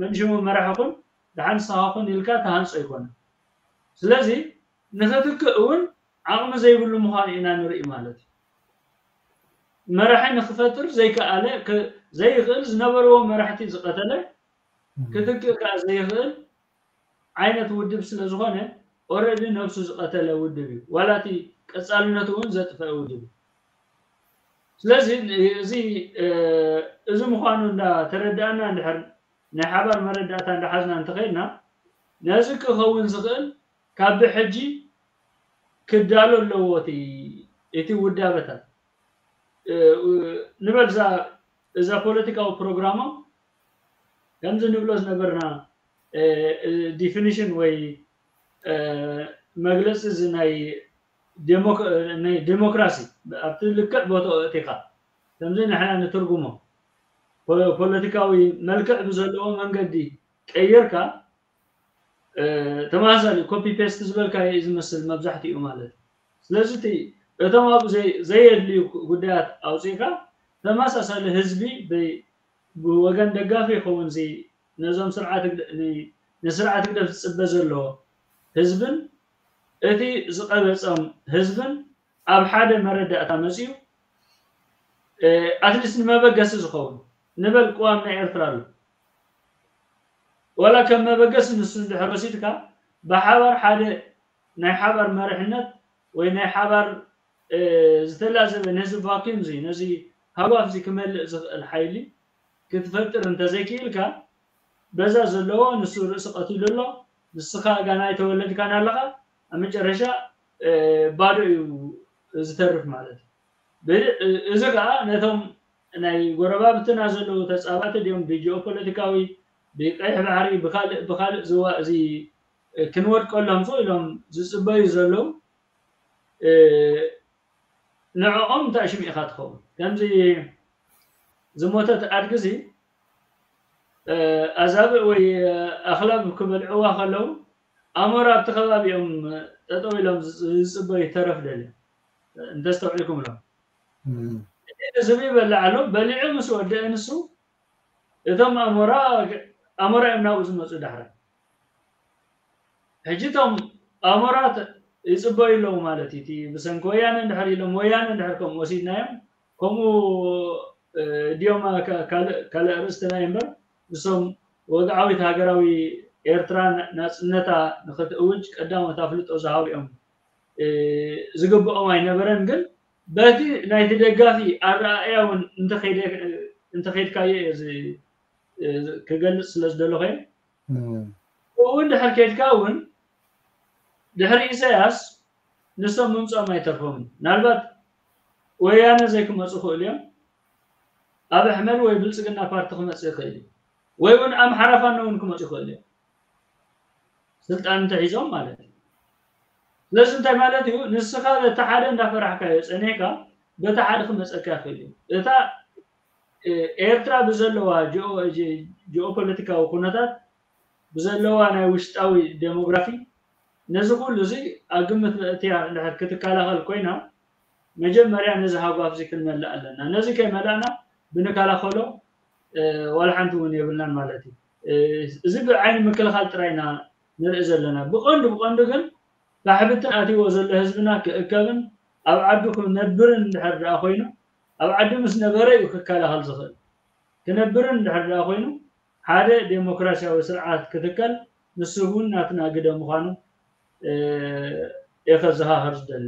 መንሽሙ መራሒ ኩን ደሓን ንስኻ ኩን ኢልካ ተሃንጾ ኣይኮነን። ስለዚ ንኽትክእ እውን ዓቕሚ ዘይብሉ ምዃኑ ኢና ንርኢ ማለት እዩ። መራሒ ንክፈጥር ዘይከኣለ ዘይኽእል ዝነበርዎ መራሕቲ ዝቐተለ ክትክእ ከዓ ዘይኽእል ዓይነት ውድብ ስለ ዝኾነ ኦረዲ ነብሱ ዝቐተለ ውድብ እዩ። ዋላ እቲ ቀፃልነቱ እውን ዘጥፈአ ውድብ እዩ። ስለዚ እዚ እዚ ምዃኑ እንዳተረዳእና እንድሕር ናይ ሓባር መረዳእታ እንዳሓዝና እንተኸይድና ነዚ ክኸውን ዝኽእል ካብ ብሕጂ ክዳሎ ኣለዎ እቲ እቲ ውዳበታት ንበል እዛ ፖለቲካዊ ፕሮግራሞም ከምዚ ንብሎ ዝነበርና ዲፊኒሽን ወይ መግለፂ እዚ ናይ ዴሞክራሲ ኣብቲ ልክዕ ቦታኡ እቲኻ ከምዚ ንሕና ንትርጉሞ ፖለቲካዊ መልክዕ ብዘለዎ መንገዲ ቀይርካ ተመሳሳሊ ኮፒ ፔስት ዝበልካዮ እዩ ዝመስል መብዛሕትኡ ማለት እዩ። ስለዚ እቲ እቶም ኣብኡ ዘይ- ዘየድልዩ ጉዳያት ኣውፂእካ ተመሳሳሊ ህዝቢ ብይ- ብወገን ደጋፊ ይኸውን እዚ ነዞም ስርዓት ህግደ- ን- ንስርዓት ህግደፍ ዝፅበ ዘሎ ህዝብን እቲ ዝቐበፀም ህዝብን ኣብ ሓደ መረዳእታ መፂኡ ኣትሊስት ንመበገሲ ዝኸውን ንበል ቅዋም ናይ ኤርትራ ኣሎ ዋላ ከም መበገሲ ንሱ እንድሕር ወሲድካ ብሓባር ሓደ ናይ ሓባር መሪሕነት ወይ ናይ ሓባር ዝተላዘበ ነዚ ቫኪዩም እዚ ነዚ ሃጓፍ እዚ ክመልእ ዝኽእል ሓይሊ ክትፈጥር እንተዘይክኢልካ በዛ ዘለዎ ንሱ ርእሲ ቀቲሉ ኣሎ ንስኻ ጋና ኣይተወለድካን ኣለኻ ኣብ መጨረሻ ባዶ እዩ ዝተርፍ ማለት እዩ። እዚ ከዓ ነቶም ናይ ጎረባብትና ዘለዉ ተፃባእቲ ድዮም ብጂኦፖለቲካዊ ብቀይሕ ባሕሪ ብካልእ ብካልእ ዝዋ እዚ ክንወድቀሎም ዞ ኢሎም ዝፅበዩ ዘለዉ ንዕኦም እንታይ ሽም ኢኻ ትኸውን ከምዚ ዝሞተት ኣድግዚ ኣዛብእ ወይ ኣኽላብ ክበልዕዋ ከለዉ ኣሞራ ኣብቲ ከባቢኦም ጠጠው ኢሎም ዝፅበዩ ተረፍ ደልዮም እንተስተውዒልኩም ኢሎም ዝብኢ በልዕ ኣሎ በሊዑ ምስ ወደአ ንሱ እቶም ኣሞራ ኣሞራ እዮም ናብኡ ዝመፁ ዳሕራይ ሕጂ እቶም ኣሞራ ይፅበዩ ኣለዉ ማለት እዩ ብሰንኪ ወያነ እንድሕር ኢሎም ወያነ እንድሕር ከምኡ ወሲድናዮም ከምኡ ድዮም ካልእ ርእስትና እምበር ንሶም ወግዓዊት ሃገራዊ ኤርትራ ናፅነታ ንክትእውጅ ቀዳሞት ኣፍልጦ ዝሃቡ እዮም ዝግብኦም ኣይነበረን ግን በቲ ናይቲ ደጋፊ ኣረኣእያ እውን እንተኸይድካዮ እየ ክገልፅ ስለ ዝደለኹ እውን ድሕር ከይድካ እውን ድሕሪ ኢሳያስ ንሶም ምምፅኦም ኣይተርፎምን ምናልባት ወያነ ዘይክመፁ ክእሉ እዮም ኣብ ኣሕመድ ወይ ብልፅግና ፓርቲ ክመፅእ ይኽእል እዩ ወይ እውን ኣምሓራ ፋኖ እውን ክመፁ ይኽእል እዮም ስልጣን እንተሒዞም ማለት እዩ ስለዚ እንታይ ማለት እዩ ንስኻ በቲ ሓደ እንዳፈራሕካዮ ፀኒሕካ በቲ ሓደ ክመፀካ ይኽእል እዩ እታ ኤርትራ ብዘለዋ ጂኦፖለቲካዊ ኩነታት ብዘለዋ ናይ ውሽጣዊ ዴሞግራፊ ነዚ ኩሉ እዚ ኣብ ግምት መእትያ እንድሕር ክትከላኸል ኮይና መጀመርያ ነዚ ሃጓፍ እዚ ክንመልእ ኣለና ነዚ ከይመላእና ብንከላኸሎ ዋላ ሓንቲ እውን የብልናን ማለት እዩ እዚ ብዓይኒ ምክልኻል ጥራይ ኢና ንርኢ ዘለና ብቐንዱ ብቐንዱ ግን ካሕብትን ኣትይዎ ዘሎ ህዝብና ክእከብን ኣብ ዓዱ ክነብርን እንድሕር ደኣ ኮይኑ ኣብ ዓዱ ምስ ነበረ እዩ ክከላኸል ዝኽእል ክነብርን እንድሕር ደኣ ኮይኑ ሓደ ዴሞክራሲያዊ ስርዓት ክትከል ንሱ እውን ናትና ግደ ምዃኑ እየ ከዘኻኸር ዝደሊ